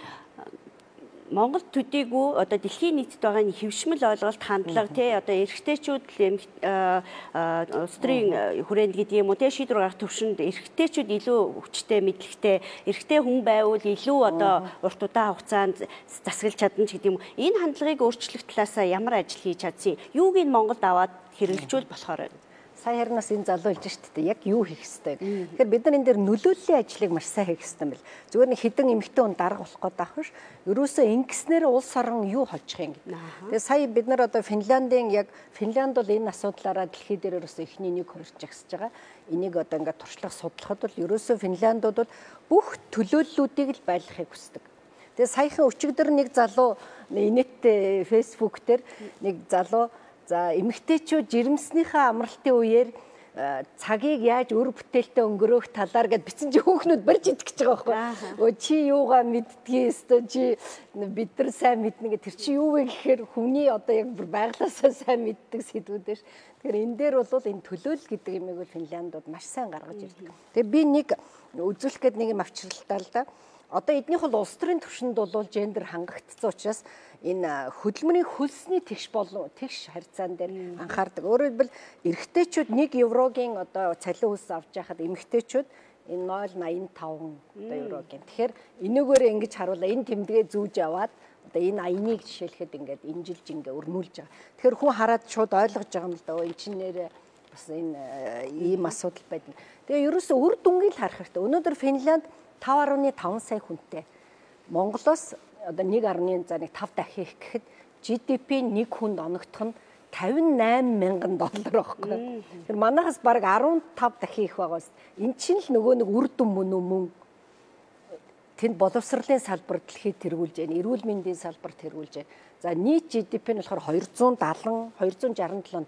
Монгол төдийгүй одоо дэлхийн нийтэд байгаа нэг хэвшмэл ойлголт хандлага тий одоо эрэгтэйчүүд улс төрийн хүрээнд гэдэг юм уу тий шийдвэр гаргах төвшөнд эрэгтэйчүүд илүү хүчтэй мэдлэгтэй эрэгтэй хүн байвал илүү одоо урт удаан хугацаанд засаглаж чадна ч гэдэг юм. Энэ хандлагыг өөрчлөх талаас ямар ажил хийж чадсан юуг нь Монголд аваад хэрэгжүүл болохоор байна. Сая харнаас энэ залуу хэлж шүү дээ. Яг юу хийх ёстой. Тэгэхээр бид нар энэ дээр нөлөөллийн ажлыг маш сайн хийх ёстой юм бэл. Зүгээр нэг хідэн эмэгтэй хүн дарга болох гээд байх биш. Ерөөсөө ингэснээр улс орон юу хожих юм гэдэг. Тэгээ сая бид нар одоо Финляндийн яг Финланд бол энэ асуудлаараа дэлхий дээр ерөөсөө эхний нэг хоёр жагсаж байгаа. Энийг одоо ингээд туршлага судлахад бол ерөөсөө Финляндууд бол бүх төлөөллүүдийг л байлгахыг хүсдэг. Тэгээ саяхан өчигдөр нэг залуу инээдтэй фэйсбુક дээр нэг залуу за эмэгтэйчүүд жирэмснийхээ амралтын үеэр цагийг яаж өр бүтээлтэй өнгөрөөх талаар гэд бичсэн чи хүүхнүүд барьж идэх гэж байгаа байхгүй. Өө чи юугаа мэддгийг өстө чи бид нар сайн мэднэ гэ тэр чи юу вэ гэхээр хүний одоо яг байглаасаа сайн мэддэг сэдвүүд ш. Тэгэхээр энэ дээр бол энэ төлөөлөл гэдэг юмыг бол Финляндууд маш сайн гаргаж ирдэг. Тэгээ би нэг үзүүлэх гээд нэг юм авчралтаа л да. Одоо эднийх бол улс төрийн түвшинд бол гендер хангагдсан учраас энэ хөдөлмөрийн хөлсний тэгш харьцаан дээр анхаардаг. Өөрөөр хэлбэл эрэгтэйчүүд 1 еврогийн одоо цалин хөлс авч яхад эмэгтэйчүүд энэ 0.85 одоо еврогийн. Тэгэхээр энэгээр ингэж харуулаа энэ тэмдгээ зүүж аваад одоо энэ аяныг жишээлхэд ингээд инжилж ингээ өрнүүлж байгаа. Тэгэхээр хүн хараад шууд ойлгож байгаа юм л да. Өө эн чинь нэрээ бас энэ ийм асуудал байдаг. Тэгээ ерөөсөө үр дүнгийг харах хэрэгтэй. Өнөөдөр Финланд 5.5 сая хүнтэй. Монголоос одоо 1.5 дахин их гэхэд GDP нэг хүнд оногдох нь $58 мянган байхгүй. Тэр манайхаас бараг 15 дахин их байгаас. Эн чинь л нөгөө нэг үр дүн мөн. Тэнд боловсролын салбар дэлхийд тэргүүлж байна. Эрүүл мэндийн салбар тэргүүлж байна. За нийт GDP нь болохоор $267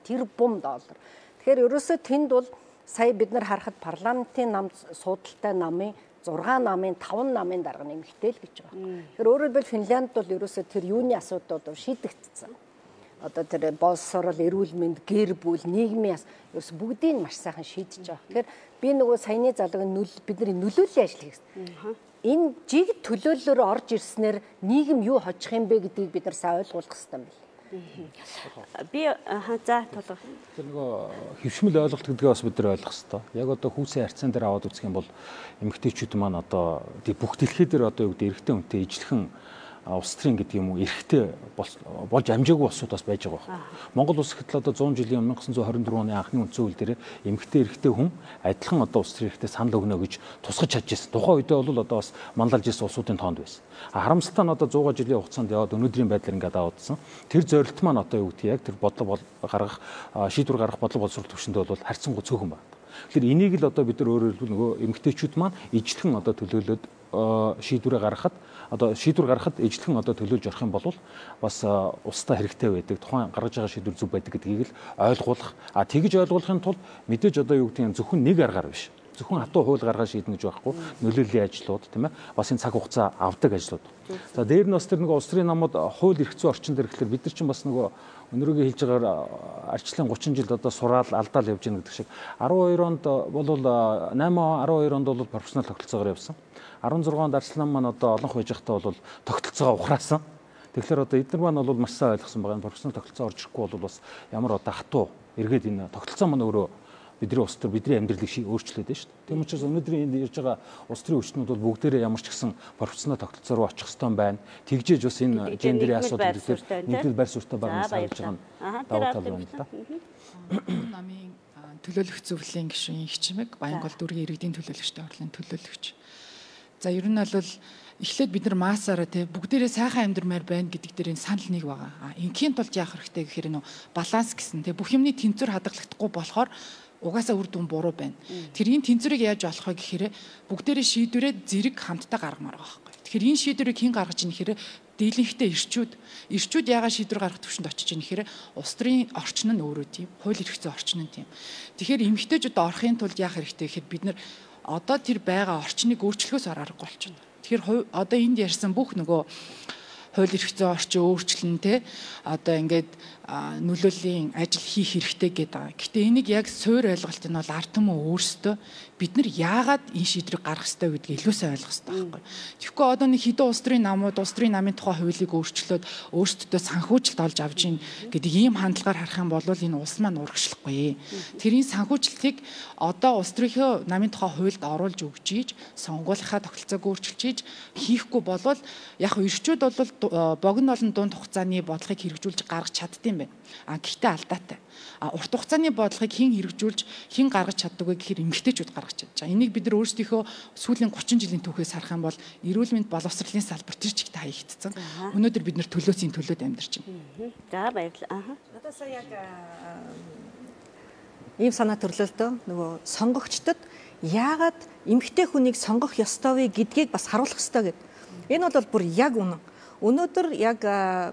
тэрбум. Тэгэхээр ерөөсөө тэнд бол сая бид нар харахад парламентын нам суудалтай намын 6 намын 5 намын дарга нэмэгтэй л гэж байгаа. Тэгэхээр өөрөөр хэлбэл Финлянд бол ерөөсөө тэр юуны асуудлууд шийдэгдсэн. Одоо тэр боловсрол, эрүүл мэнд, гэр бүл, нийгмийн ерөөс бүгдийг маш сайхан шийдэж байгаа. Тэгэхээр би нөгөө саяны залууг бидний нөлөөллийн ажил хийх гэсэн. Энэ жиг төлөөллөөр орж ирснээр нийгэм юу хожих юм бэ гэдгийг бид нар сайн ойлгуулах хэрэгтэй юм байна. Би за толгой. Тэр нөгөө хөвшмөл ойлголт гэдгээ бас бид нар ойлгох хэрэгтэй. Яг одоо хүүсийн харьцаан дээр аваад үзэх юм бол эмэгтэйчүүд маань одоо бүх дэлхий дээр одоо юу гэдэг эрэгтэй хүнтэй ижлэхэн улс төрийн гэдэг юм уу эрэгтэй болж амжаагүй улсууд бас байж байгаа байна. Монгол улс гэтэл одоо 100 жилийн 1924 оны анхны үндсэн хууль дээр эмэгтэй эрэгтэй хүн адилхан одоо улс төрийн эрэгтэй санал өгнө гэж тусгаж чадчихсан. Тухайн үедээ бол одоо бас мандалж ирсэн улсуудын тоонд байсан. Харамсалтай нь одоо 100 жилийн хугацаанд яваад өнөөдрийн байдлаар ингээд аваадсан. Тэр зорилт маань одоо юу гэдэг яг тэр бодлого гаргах шийдвэр гаргах бодлого боловсрол төвшөндөө бол харьцангуй цөөхөн байна. Тэгэхээр энийг л одоо бид нар өөрөөр хэлбэл нөгөө эмэгтэйчүүд маань ижлэхэн одоо төлөөлөд шийдвэр гаргахад ижлэхэн одоо төлөөлж орох юм бол бас устдаа хэрэгтэй байдаг. Тухайн гаргаж байгаа шийдвэр зөв байдаг гэдгийг л ойлгуулах. Тэгж ойлгуулахын тулд мэдээж одоо юу гэдэг нь зөвхөн нэг аргаар биш. Зөвхөн хатуу хууль гаргаад шийднэ гэж байхгүй. Нөлөөллийн ажлууд тийм ээ. Бас энэ цаг хугацаа авдаг ажлууд. За дээр нь бас тэр нэг улс төрийн намууд хууль эрх зүйн орчин дээр гэхэлэр бид нар чинь бас нөгөө өнөөгийн хэлж байгаагаар арчлын 30 жилд одоо сураал алдаал явж гэнэ гэдэг шиг 12 онд бол 8 12 онд бол профессионал тогтолцоогоор явсан. 16 онд арчлан маань одоо олонх байж байхдаа бол тогтолцоогоо ухраасан. Тэгэхээр одоо эдгээр маань бол маш сайн ойлгосон байгаа. Профессионал тогтолцоо орж ирэхгүй бол бас ямар одоо хатуу эргээд энэ тогтолцоо маань өөрөө бидний улс төр бидний амьдралыг өөрчлөөд байна шүү дээ. Тийм учраас өнөөдрийн энд ирж байгаа улс төрийн хүчнүүд бол бүгдээрээ ямар ч гэсэн профессионал тогтолцоо руу очих ёстой байна. Тэгжээж бас энэ гендерийн асуудал дээр нэгдэл байр суурьтай байгаа нь санаж байгаа нь давуу тал байна л да. Намын төлөөлөх зөвлөлийн гишүүн хичмэг Баянгол дүүргийн иргэдийн төлөөлөгчтэй орлын төлөөлөгч. За ер нь бол эхлээд бид нар маасаараа тий бүгдээрээ сайхан амьдрмаар байна гэдэг дээр энэ санал нэг байгаа. Инхийн тулд яах хэрэгтэй гэхээр нөө баланс гэсэн тий бүх юмны тэнцвэр хадгалагдахгүй болохоор угаасаа үр дүн буруу байна. Тэр энэ тэнцвэрийг яаж олох вэ гэхээр бүгдээрээ шийдвэрээ зэрэг хамтдаа гаргамаар байгаа байхгүй. Тэгэхээр энэ шийдвэрийг хэн гаргаж ийн гэхээр дийлэнхтэй ирчүүд яагаад шийдвэр гаргах төвшөнд очиж ийн гэхээр улс төрийн орчин нь өөрөө тийм, хууль эрх зүйн орчин нь тийм. Тэгэхээр эмэгтэйчүүд орохын тулд яах хэрэгтэй гэхээр бид нар одоо тэр байгаа орчныг өөрчлөхөөс аргагүй болчихно. Тэгэхээр одоо энд ярьсан бүх нөгөө хууль эрх зүйн орчин өөрчлөн те одоо ингээд нөлөөллийн ажил хийх хэрэгтэй гэдэг байгаа. Гэхдээ энийг яг суур ойлголт нь бол ард түмэн өөрсдөө бид нар яагаад энэ шийдвэрийг гаргах ёстой гэдгийг илүү сайн ойлгох ёстой байхгүй. Тэгэхгүй одоо нэг хэдэн улс төрийн намууд улс төрийн намын тухай хуулийг өөрчлөөд өөрсдөө санхүүжилт олж авж ийн гэдэг ийм хандлагаар харах юм бол энэ улс маань урагшлахгүй. Тэрийн санхүүжилтийг одоо улс төрийн намын тухай хуульд оруулж өгч ийж сонгуулийнхаа тогтолцоог өөрчилж ийж хийхгүй болвол яг эрчүүд бол богино олон дунд хугацааны бодлогыг хэрэгжүүлж гаргаж чаддсан байна. Гэхдээ алдаатай. Урт хугацааны бодлогыг хэн хэрэгжүүлж хэн гаргаж чаддаг вэ гэхээр эмэгтэйчүүд гаргаж чадж байгаа. Энийг бид нар өөрсдийнхөө сүүлийн 30 жилийн түүхээс харах юм бол эрүүл мэнд боловсролын салбар тэр чигт хаягдсан. Өнөөдөр бид нар төлөөсийн төлөөд амьдарч байна. За баярлалаа. Надад сая яг ийм санаа төрлөө л дөө нөгөө сонгогчдод яагаад эмэгтэй хүнийг сонгох ёстой вэ гэдгийг бас харуулах ёстой гэдэг. Энэ бол бүр яг үнэн. Өнөөдөр яг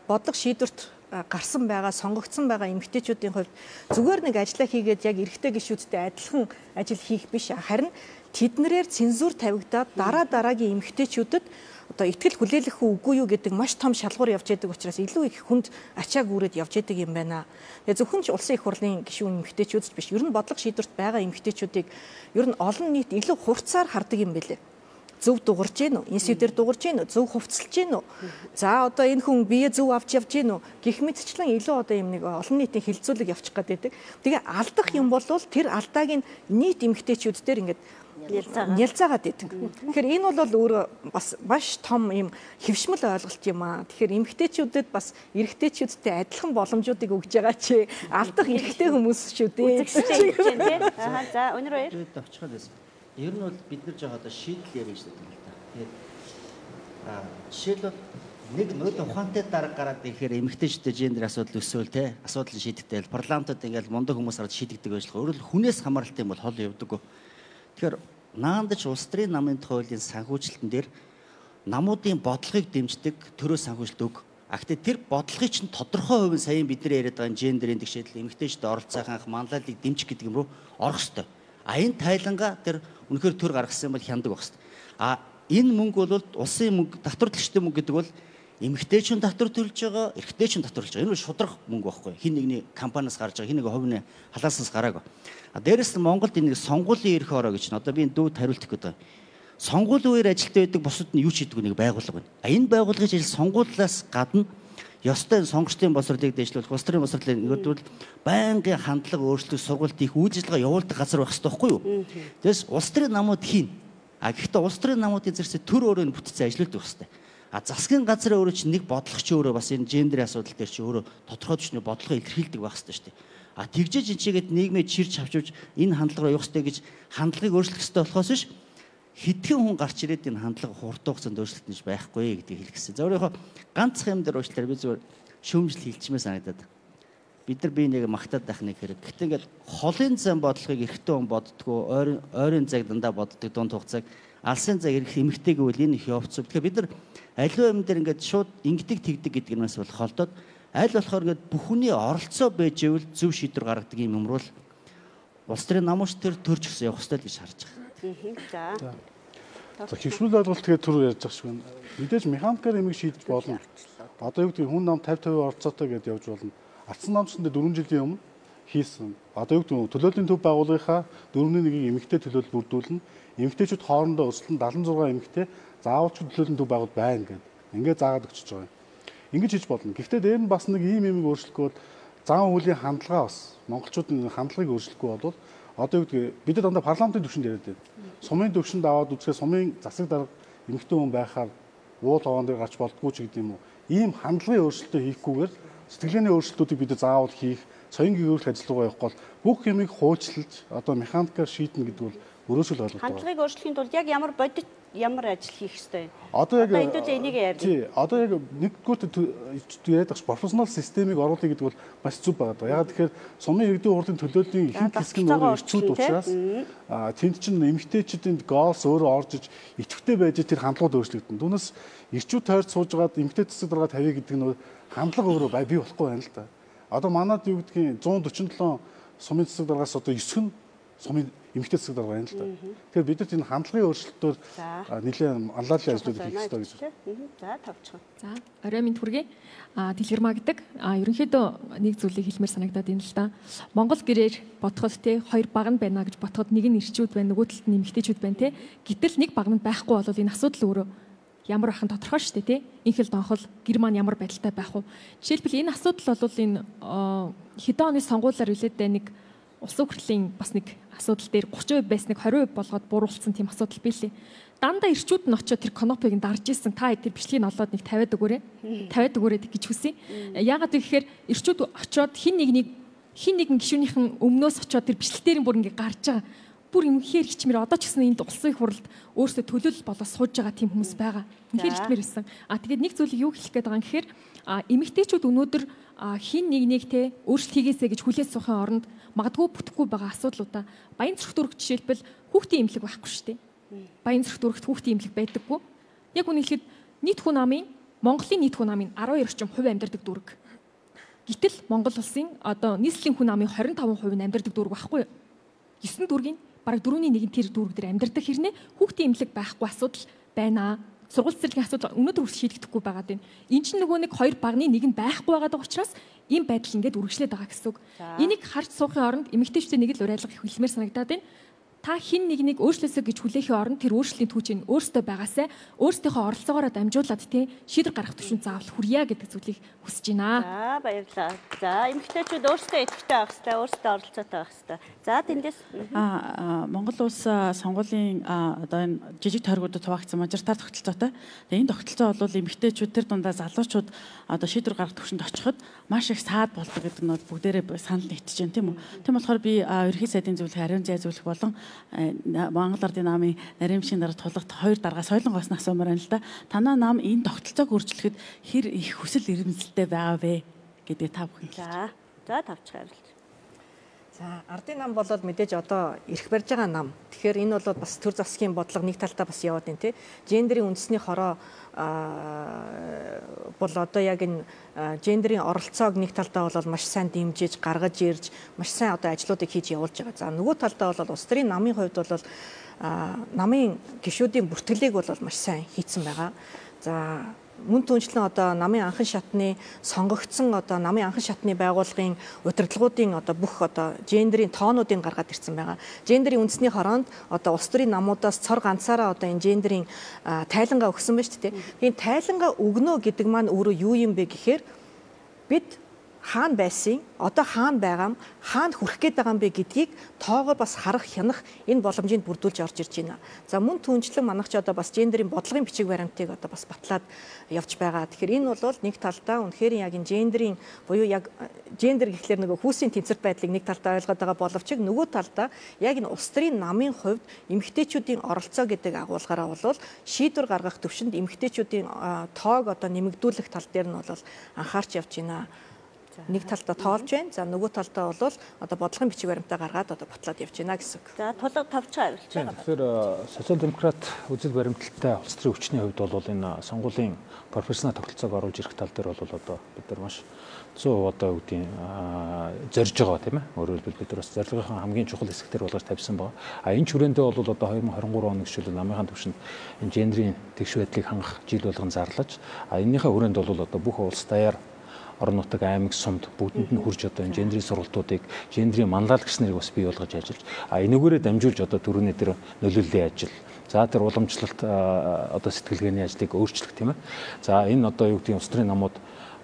бодлого шийдвэрт гарсан байгаа, сонгогдсон байгаа эмэгтэйчүүдийн хувьд зүгээр нэг ажиллаа хийгээд яг эрэгтэй гишүүдтэй адилхан ажил хийх биш. Харин тэднэрээр цензур тавигдаад дараагийн эмэгтэйчүүдэд одоо итгэл хүлээлгэх үгүй юу гэдэг маш том шалгуур явж байдаг учраас илүү их хүнд ачааг үүрээд явж байдаг юм байна. Тэгээ зөвхөн ч улсын их хурлын гишүүн эмэгтэйчүүд ч биш. Ер нь бодлого шийдвэрт байгаа эмэгтэйчүүдийг ер нь олон нийт илүү хурцаар хардаг юм бэлээ. Зөв дуурж гин үү? Институтээр дуурж гин үү? Зөв хувцалж гин үү? За одоо энэ хүн бие зөв авч явж гин үү? Гэх мэтчлэн илүү одоо юм нэг олон нийтийн хилцүүлэг явчих гээд байдаг. Тэгээ алдах юм бол тэр алдааг нь нийт эмэгтэйчүүд дээр ингээд нялцаагаад байдаг. Тэгэхээр энэ бол өөрөө бас маш том юм хэвшмэл ойлголт юм аа. Тэгэхээр эмэгтэйчүүдэд бас эрэгтэйчүүдтэй адилхан боломжуудыг өгж байгаа чи алдах эрэгтэй хүмүүс шүү дээ. За өнөр баяр. Ер нь бол бид нар жоо одоо шийдэл ярих гэж байна л да. Тэгээд жишээлбэл нэг нөлөө ухаантай дарга гараад ирэхээр эмэгтэйчүүдтэй гендер асуудал өсөөл те асуудлыг шийдэгдээл парламентод ингээл мундаг хүмүүс орж шийдэгдэг ажиллагаа. Өөрөөр хүнээс хамааралтай юм бол хол явдаг. Тэгэхээр наандаж улс төрийн намын хуулийн санхүүжилтэн дээр намуудын бодлогыг дэмждэг төрөө санхүүжилт өг. Гэхдээ тэр бодлогыг чинь тодорхой хувийн саяын бид нар яриад байгаа гендерийн тэгшэдэл эмэгтэйчүүд оролцоох анх манлайлалыг дэмжих гэдэг юм руу орох ёстой. Энэ тайлангаа тэр үнэхээр төр гаргасан бол хяндаг байх хэвээр. Энэ мөнгө бол улсын мөнгө, татвар төлөгчтэй мөнгө гэдэг бол эмэгтэйчүүд татвар төлж байгаа, эрэгтэйчүүд татвар төлж байгаа. Энэ бол шудраг мөнгө байхгүй. Хин нэгний компаниас гарч байгаа, хин нэг хувийн халааснаас гараагүй. Дээрээс нь Монголд энэ сонгуулийн эрх ороо гэж нь одоо би дүүд хариулт өгөх гэдэг. Сонгуулийн үеэр ажилтаа байдаг бусад нь юу ч хийдэг нэг байгууллага байна. Энэ байгууллагын ажил сонгуулиас гадна ёстой сонгогчдын боловсролыг дэвшлүүлэх, улс төрийн боловсролыг нэгдвэл байнгын хандлага өөрчлөлт сургалт их үйл ажиллагаа явуулдаг газар байх хэрэгтэй байхгүй юу? Тэгээс улс төрийн намууд хийн. Гэхдээ улс төрийн намуудын зэрэгцээ төр өөрөө бүтцээ ажилладаг хэрэгтэй. Засгийн газар өөрөө чинь нэг бодлого ч өөрөө бас энэ гендерийн асуудал дээр чи өөрөө тодорхой төвчний бодлогоо илэрхийлдэг байх хэрэгтэй шүү дээ. Тэгжээж энэ чигээд нийгмээ чирч авчиж энэ хандлагаар явах хэрэгтэй гэж хандлагыг өөрчлөх хэрэгтэй болохоос биш хэдхэн хүн гарч ирээд энэ хандлага хурдан хугацаанд өөрчлөлт нэж байхгүй гэдгийг хэлэх гэсэн. За өөрийнхөө ганцхан юм дээр уучлаарай би зүгээр шүүмжил хэлчмээ санагдаад. Бид нар бие нэг магтаад байх нэг хэрэг. Гэхдээ ингээд холын зам бодлогыг эрэгтэй хүн боддгоо, ойрын цаг дандаа боддог дунд хугацааг алсын цаг эрэх эмэгтэй гэвэл энэ их явцсан. Тэгэхээр бид нар аливаа юм дээр ингээд шууд ингэдэг тэгдэг гэдэг юмас бол холдоод аль болохоор ингээд бүхний оролцоо байж ивэл зөв шийдвэр гаргадаг юм юмруул улс төрийн намууч төр төрж өгсөн явах хэрэгтэй гэж харж байгаа. За хөвшмөл ойлголт тэгээд түр ярьж байгаа шиг байна. Мэдээж механикаар эмийг шийдэж болно. Одоо юу гэдэг хүн нам 50-50 оролцоотой гэдээ явж болно. Ардсан намчсанд 4 жилийн өмнө хийсэн. Одоо юу гэдэг төлөөлийн төв байгууллагынхаа 4-1-ийг эмэгтэй төлөөлөл бүрдүүлнэ. Эмэгтэйчүүд хоорондоо өсөлтөнд 76 эмэгтэй заавалч төлөөлийн төв байгуулалт байна гэдэг. Ингээд заагаад өгч байгаа юм. Ингэж хийж болно. Гэхдээ дээр нь бас нэг ийм юмыг өөрчлөхгүй бол зан үйлийн хандлага бас монголчуудын хандлагыг өөрчлөхгүй бол одоо юу гэдэг бид дандаа парламентын түвшинд яриад байна. Сумын түвшинд аваад үзэхээр сумын засаг дарга эмэгтэй хүн байхаар уул хоон дээр гарч болдгоо ч гэдэг юм уу. Ийм хандлагын өөрчлөлтөө хийхгүйгээр сэтгэлгээний өөрчлөлтүүдийг бид заавал хийх, соён гэрүүлэх ажиллагаа явах бол бүх юмыг хуучилж одоо механикаар шийднэ гэдэг бол өрөөсөл ойлголт байна. Хандлагыг өөрчлөхийн тулд яг ямар ажил хийх ёстой вэ? Одоо яг энийг ярьж. Тий, одоо яг нэгдүгээр яриад багш профессионал системийг оруулах гэдэг бол маш зүг байгаа. Яг тэгэхээр сумын иргэдийн хурлын төлөөлийн ихэнх хэсэг нь өөрөө ирчүүд учраас тэнд чинь эмэгтэйчүүдийн голс өөрөө орж иж идэвхтэй байж тэр хандлагууд өөрчлөгдөн. Түүнээс ирчүүд тойрч суужгаад эмэгтэй засаг дарга тавья гэдэг нь хандлага өөрөө бий болохгүй байна л да. Одоо манад юу гэдгийг 147 сумын засаг даргаас одоо 9 нь сумын эмэгтэй засаг дарга байна л да. Тэгэхээр бид нар энэ хандлагын өөрчлөлтөөр нэлээд анлаалын ажлууд хийх ёстой гэж байна. За тавчхан. За орой минь хүргэе. Дэлгэрмаа гэдэг ерөнхийдөө нэг зүйлийг хэлмээр санагдаад байна л да. Монгол гэрээр ботход те хоёр баг нь байна гэж ботход нэг нь ирчүүд байна, нөгөө талд нь эмэгтэйчүүд байна те. Гэтэл нэг баг нь байхгүй бол энэ асуудал өөрөө ямар ахын тодорхой шүү дээ тий. Инхэл донхол гэр маань ямар байдалтай байх вэ? Жишээлбэл энэ асуудал бол энэ хэдэн оны сонгуулиар үлээдээ нэг улс хурлын бас нэг асуудал дээр 30% байсныг 20% болгоод бууруулсан тийм асуудал билээ. Дандаа ирчүүд нь очиод тэр конопыг дарж исэн. Та тэр бичлэгийг олоод нэг 50-аад өгөөрэй гэж хүсье. Яагаад гэвэл ирчүүд очиод хин нэгэн гишүүнийхэн өмнөөс очиод тэр бичлэгтэр бүр ингээ гарч байгаа. Бүр юмхээр хичмээр одоо ч гэсэн энд улсын хурлд өөрсдөө төлөөлөл болоод сууж байгаа тийм хүмүүс байгаа. Үнэхээр хичмээр байсан. Тэгээд нэг зүйлийг юу хэлэх гээд байгаа юм гэхээр эмэгтэйчүүд өнөөдөр хин нэг те өөрчлөлт хийгээсэй гэж хүлээж суухын оронд магадгүй бүтэхгүй байгаа асуудлуудаа Баян зүрх дүүрэг жишээлбэл хүүхдийн эмнэлэг байхгүй шүү дээ. Баян зүрх дүүрэгт хүүхдийн эмнэлэг байдаггүй. Яг үнэ хэлэхэд нийт хүн амын Монголын нийт хүн амын 12 орчим хувь амьдардаг дүүрэг. Гэтэл Монгол улсын одоо нийслэлийн хүн амын 25% нь амьдардаг дүүрэг байхгүй юу? 9 дүүргийн бараг 4/1 тэр дүүрэг дээр амьдардаг хэрнээ хүүхдийн эмнэлэг байхгүй асуудал байна. Сургууль цэцэрлэгийн асуудал өнөөдөр хүртэл шийдэгдэхгүй байгаа юм. Энд чинь нөгөө нэг хоёр багны нэг нь байхгүй байгаа учраас ийм байдал ингээд үргэлжлээд байгаа гэсэн үг. Энийг харж суухын оронд эмэгтэйчүүдийн нэг л уриалга хэлмээр санагдаад байна. Та хин нэг өөрчлөөсөө гэж хүлээхийн оронд тэр өөрчлөлийн түүчийг өөртөө байгаасаа өөрсдийнхөө оролцоогоор дамжуулаад тий шийдвэр гаргах төвшин заавал хүрье гэдэг зүйлийг хүсэж байна. За баярлалаа. За эмэгтэйчүүд өөрсдөө идэвхтэй байх хэрэгтэй, өөрсдөө оролцоотой байх хэрэгтэй. За тэндээс Монгол улс сонгуулийн одоо энэ жижиг тойргуудад хуваагдсан мажоритар тогтолцоотой. Тэгээ энэ тогтолцоо бол эмэгтэйчүүд тэр дундаа залуучууд одоо шийдвэр гаргах төвшөнд очиход маш их саад болдог гэдэг нь бүгдээрээ санал нэгтэж байна тийм үү. Тийм болохоор би ерхий сайдын зөвлөх ариун зай зөвлөх болон Монгол Ардын намын нарийн машин дараа тулгт хоёр дарга соёлонгоос асуумаар байна л да. Танаа нам энэ тогтолцоог өөрчлөхөд хэр их хүсэл эрмэлзэлтэй байгаа вэ гэдэг та бүхэн. За тавч хариулт. За Ардын нам болоод мэдээж одоо ирэх барьж байгаа нам. Тэгэхээр энэ бол бас төр засгийн бодлого нэг талдаа бас яваад байна тий. Гендерийн үндэсний хороо бол одоо яг энэ гендерийн оролцоог нэг талдаа бол маш сайн дэмжиж гаргаж ирж маш сайн одоо ажлуудыг хийж явуулж байгаа. За нөгөө талдаа бол улс төрийн намын хувьд бол намын гишүүдийн бүртгэлийг бол маш сайн хийцэн байгаа. За мөн түнчлэн одоо намын анхан шатны сонгогдсон одоо намын анхан шатны байгууллагын удирдлагуудын одоо бүх одоо гендерийн тоонуудыг гаргаад ирсэн байгаа. Гендерийн үндэсний хороонд одоо улс төрийн намуудаас цор ганцаараа одоо энэ гендерийн тайлангаа өгсөн байна шүү дээ. Энэ тайлангаа өгнө гэдэг маань өөрөө юу юм бэ гэхээр бид хаана байсан, одоо хаана байгаа, хаана хүрэх гээд байгаа юм бэ гэдгийг тоогоор бас харах, хянах энэ боломжийг бүрдүүлж орж ирж байна. За мөн түнчлэн манайх ч одоо бас гендерийн бодлогын бичиг баримтыг одоо бас батлаад явж байгаа. Тэгэхээр энэ бол нэг талдаа үнэхээр яг энэ гендерийн буюу яг гендер гэхлээр нөгөө хүүсийн тэнцвэрт байдлыг нэг талдаа ойлгоод байгаа боловч нөгөө талдаа яг энэ улс төрийн намын хувьд эмэгтэйчүүдийн оролцоо гэдэг агуулгаараа бол шийдвэр гаргах төвшөнд эмэгтэйчүүдийн тоог одоо нэмэгдүүлэх тал дээр нь бол анхаарч явж байна. Нэг талдаа тоолж байна. За нөгөө талдаа бол одоо бодлогын бичиг баримтаа гаргаад одоо батлаад явж байна гэсэн. За тулга тавч хариулж байгаа. Тэгэхээр социал-демократ үзэл баримталтай улс төрийн өвчний хувьд бол энэ сонгуулийн профессионал тогтолцоог оруулж ирэх тал дээр бол одоо бид нар маш 100% одоо үүдийн зорж байгаа тийм ээ. Өөрөөр хэлбэл бид нар бас зорилгын хамгийн чухал хэсгээр болгож тавьсан байгаа. Энэ хүрээндээ бол одоо 2023 оны гişүүд намынхаа төвшөнд энэ гендерийн тэгш байдлыг хангах жил болгон зарлаж энэнийхээ хүрээнд бол одоо бүх улс даяар орон нутаг аймаг сумд бүгдэнд нь хурж одоо энэ гендерийн сургалтуудыг гендерийн манлайлагч нарыг бас бий болгож ажиллаж энэгээрээ дамжуулж одоо төрөний тэр нөлөөллийн ажил за тэр уламжлалт одоо сэтгэлгээний ажлыг өөрчлөх тийм ээ. За энэ одоо юу гэдэг нь улс төрийн намууд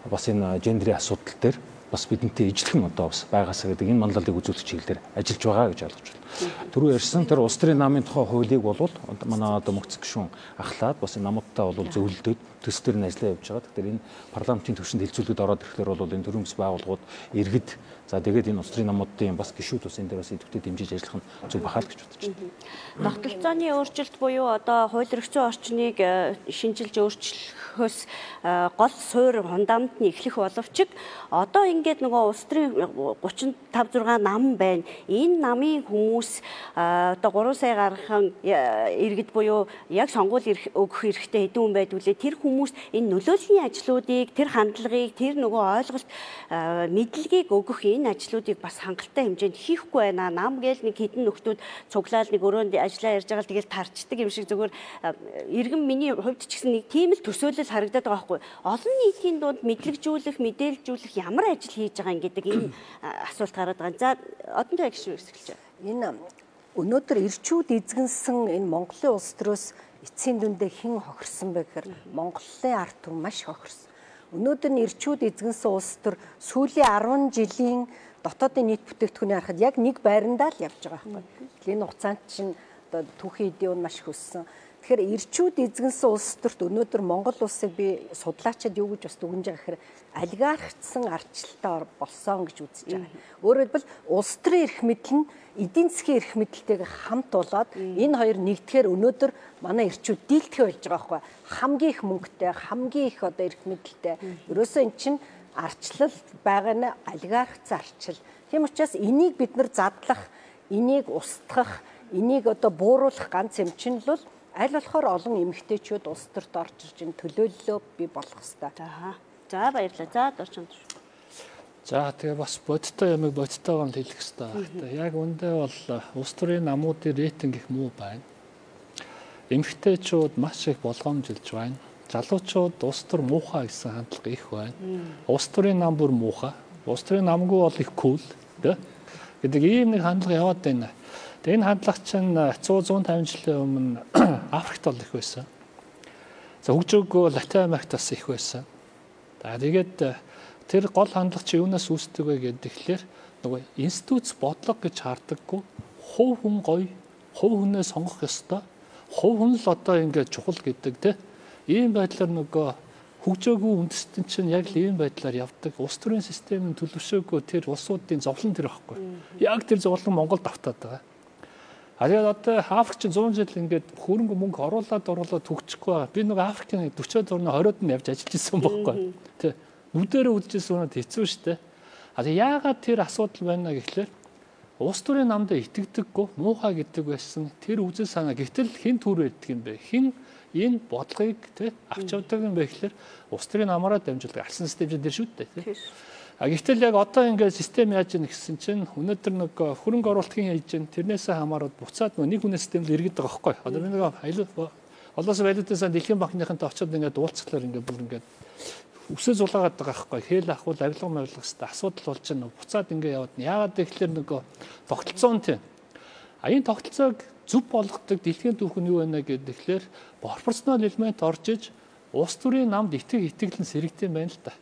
бас энэ гендерийн асуудал дээр бас бидэнтэй ижлэхэн одоо бас байгаасаа гэдэг энэ манлайлалыг үзүүлэх чиглэлээр ажиллаж байгаа гэж ойлгож байна. Түрүү ярьсан тэр улс төрийн намын тухай хуулийг бол манай одоо мөнх гишүүн ахлаад бас энэ намуудтай бол зөвлөдөд төс төр нь ажиллаа явж байгаа. Тэгэхээр энэ парламентын төвшөнд хилцүүлэгд ороод ирэхээр бол энэ төрийн бас байгууллагууд иргэд за тэгээд энэ улс төрийн намуудын бас гишүүд бас энэ дээр бас идэвхтэй дэмжиж ажиллах нь зөв бахаа л гэж бодож байна. Тогтолцооны өөрчлөлт буюу одоо хууль эрхцэн орчныг шинжилж өөрчлөхөөс гол суурь фундамент нь эхлэх боловч одоо ингээд нөгөө улс төрийн 35-6 нам байна. Энэ намын хүмүүс одоо 3 сая гархан иргэд буюу яг сонгуул өгөх хэрэгтэй хэдэн хүн байдгүйлээ тэр хүмүүс энэ нөлөөллийн ажлуудыг тэр хандлагыг тэр нөгөө ойлголт мэдлэгийг өгөх энэ ажлуудыг бас хангалттай хэмжээнд хийхгүй байна. Нам гээл нэг хэдэн нөхдүүд цуглаал нэг өрөөнд ажиллаа ярьж байгаа тэгэл тарчдаг юм шиг зүгээр иргэн миний хувьд ч гэсэн нэг тийм л төсөөлөл харагдаад байгаа байхгүй. Олон нийтийн дунд мэдлэгжүүлэх, мэдээлжүүлэх ямар ажил хийж байгаа гэдэг энэ асуулт гараад байгаа. За одонтой гişүн хэсгэлж байна. Энэ өнөөдөр ирчүүд эзэгнсэн энэ Монголын улс төрөөс эцсийн дүндээ хэн хохирсон бэ гэхээр Монголын ард түмэн маш хохирсон. Өнөөдөр нь ирчүүд эзэгнсэн улс төр сүүлийн 10 жилийн дотоодын нийт бүтээгдэхүүний харахад яг нэг байрандаа л явж байгаа байхгүй. Энэ хугацаанд чинь одоо түүхийн эдийн маш хөссөн. Тэгэхээр ирчүүд эзэгнсэн улс төрт өнөөдөр Монгол улсыг би судлаачид юу гэж бас дүгнэж байгаа гэхээр олигархичсан ардчлалтай болсон гэж үзэж байгаа. Өөрөөр хэлбэл улс төрийн эрх мэдэл нь эдийн засгийн эрх мэдэлтэйгээ хамт болоод энэ хоёр нэгдэхээр өнөөдөр манай ирчүүд дийлдэхэ болж байгаа байхгүй. Хамгийн их мөнгөтэй, хамгийн их одоо эрх мэдэлтэй. Ерөөсөө эн чинь ардчлал байгаа нь олигархицсан ардчлал. Тийм учраас энийг бид нар задлах, энийг устгах, энийг одоо бууруулах ганц юм чинь л аль болохоор олон эмэгтэйчүүд улс төрт орж ирж энэ төлөөллөө бий болох хэрэгтэй. За баярлалаа. За дурчсан. За тэгээ бас бодтой ямиг бодтойгоо хэлэх хэрэгтэй. Яг үндэ бол улс төрийн намуудын рейтинг их муу байна. Эмэгтэйчүүд маш их болгоомжилж байна. Залуучууд улс төр муухай гэсэн хандлага их байна. Улс төрийн нам бүр муухай. Улс төрийн намгүй бол их кул гэдэг ийм нэг хандлага яваад байна. Тэгээ энэ хандлага чинь 100-150 жилийн өмнө Африкт бол их байсан. За хөгжөөгөө Латин Америкт бас их байсан. Тэгээд тэр гол хандлага чи юунаас үүсдэг вэ гэхээр нөгөө институт бодлого гэж хардаггүй хувь хүн гоё, хувь хүнээ сонгох ёстой. Хувь хүн л одоо ингээд чухал гэдэг те. Ийм байдлаар нөгөө хөгжөөгүй үндэстэн чинь яг л ийм байдлаар явдаг. Улс төрийн системийн төлөвшөөгүй тэр улсуудын зовлон тэр байхгүй. Яг тэр зовлон Монголд автаад байгаа. Тэгээд одоо Африк чинь 100 жил ингээд хөрөнгө мөнгө оруулаад хөгжихгүй байгаа. Би нөгөө Африкийн 40-од орны 20-од нь явж ажиллаж ирсэн байхгүй. Тэ нүдэрээ үдчихсэн үнэд хэцүү шттэ. Яагаад тэр асуудал байна гэхлээр улс төрийн намд итгэдэггүй, муухай гэдэг байсан тэр үзэл санаа. Гэтэл хэн түр байдаг юм бэ? Хэн энэ бодлогыг авч явдаг юм бэ гэхлээр улс төрийн намаараа дамжуулдаг алсан систем дээр шүү дээ. Гэтэл яг одоо ингээд систем яаж ийн гэсэн чинь өнөөдөр нэг хөрөнгө оруулалтын хийж чинь тэрнээсээ хамаараад буцаад нэг хүнээс систем л иргэдэг байгаа байхгүй. Одоо нэг олоос валютаас дэлхийн банкныхантай очиод ингээд уулзцлаар ингээд бүр ингээд өсөө зулаагаад байгаа байхгүй. Хэл ахвал авилга мавилгастай асуудал болж байна. Буцаад ингээд яваад. Яагаад гэхэлэр нөгөө тогтолцоо нь тийм. Энэ тогтолцоог зөв болгодог дэлхийн түүх нь юу байна гэхээр пропорционал элемент орж иж улс төрийн намд итгэлэн сэрэгдэм байна л да.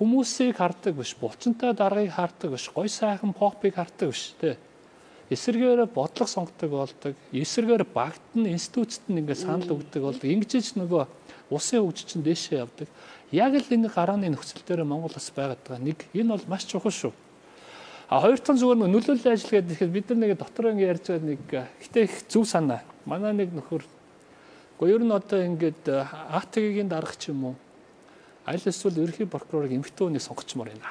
Хүмүүсийг хардаг биш, булчинтай даргаыг хардаг биш, гой сайхан попыг хардаг биш тий. Эсэргээр бодлого сонгодог болдог. Эсэргээр багт нь институцэд нь ингээд санал өгдөг болдог. Ингэж нөгөө улсын хөгжиж чинь дээшээ явдаг. Яг л энэ гарааны нөхцөл дээр Монгол бас байгаад байгаа. Нэг энэ бол маш чухал шүү. Хоёр дахь зүгээр нөлөөллийн ажил гэдэг бид нар нэг дотор ингээд ярьж байгаа нэг гэтээ их зөв санаа. Манай нэг нөхөр ер нь одоо ингээд АТГ-ийн дарга ч юм уу аль эсвэл ерөнхий прокурорыг эмэгтэй хүнийг сонгочмоор байна.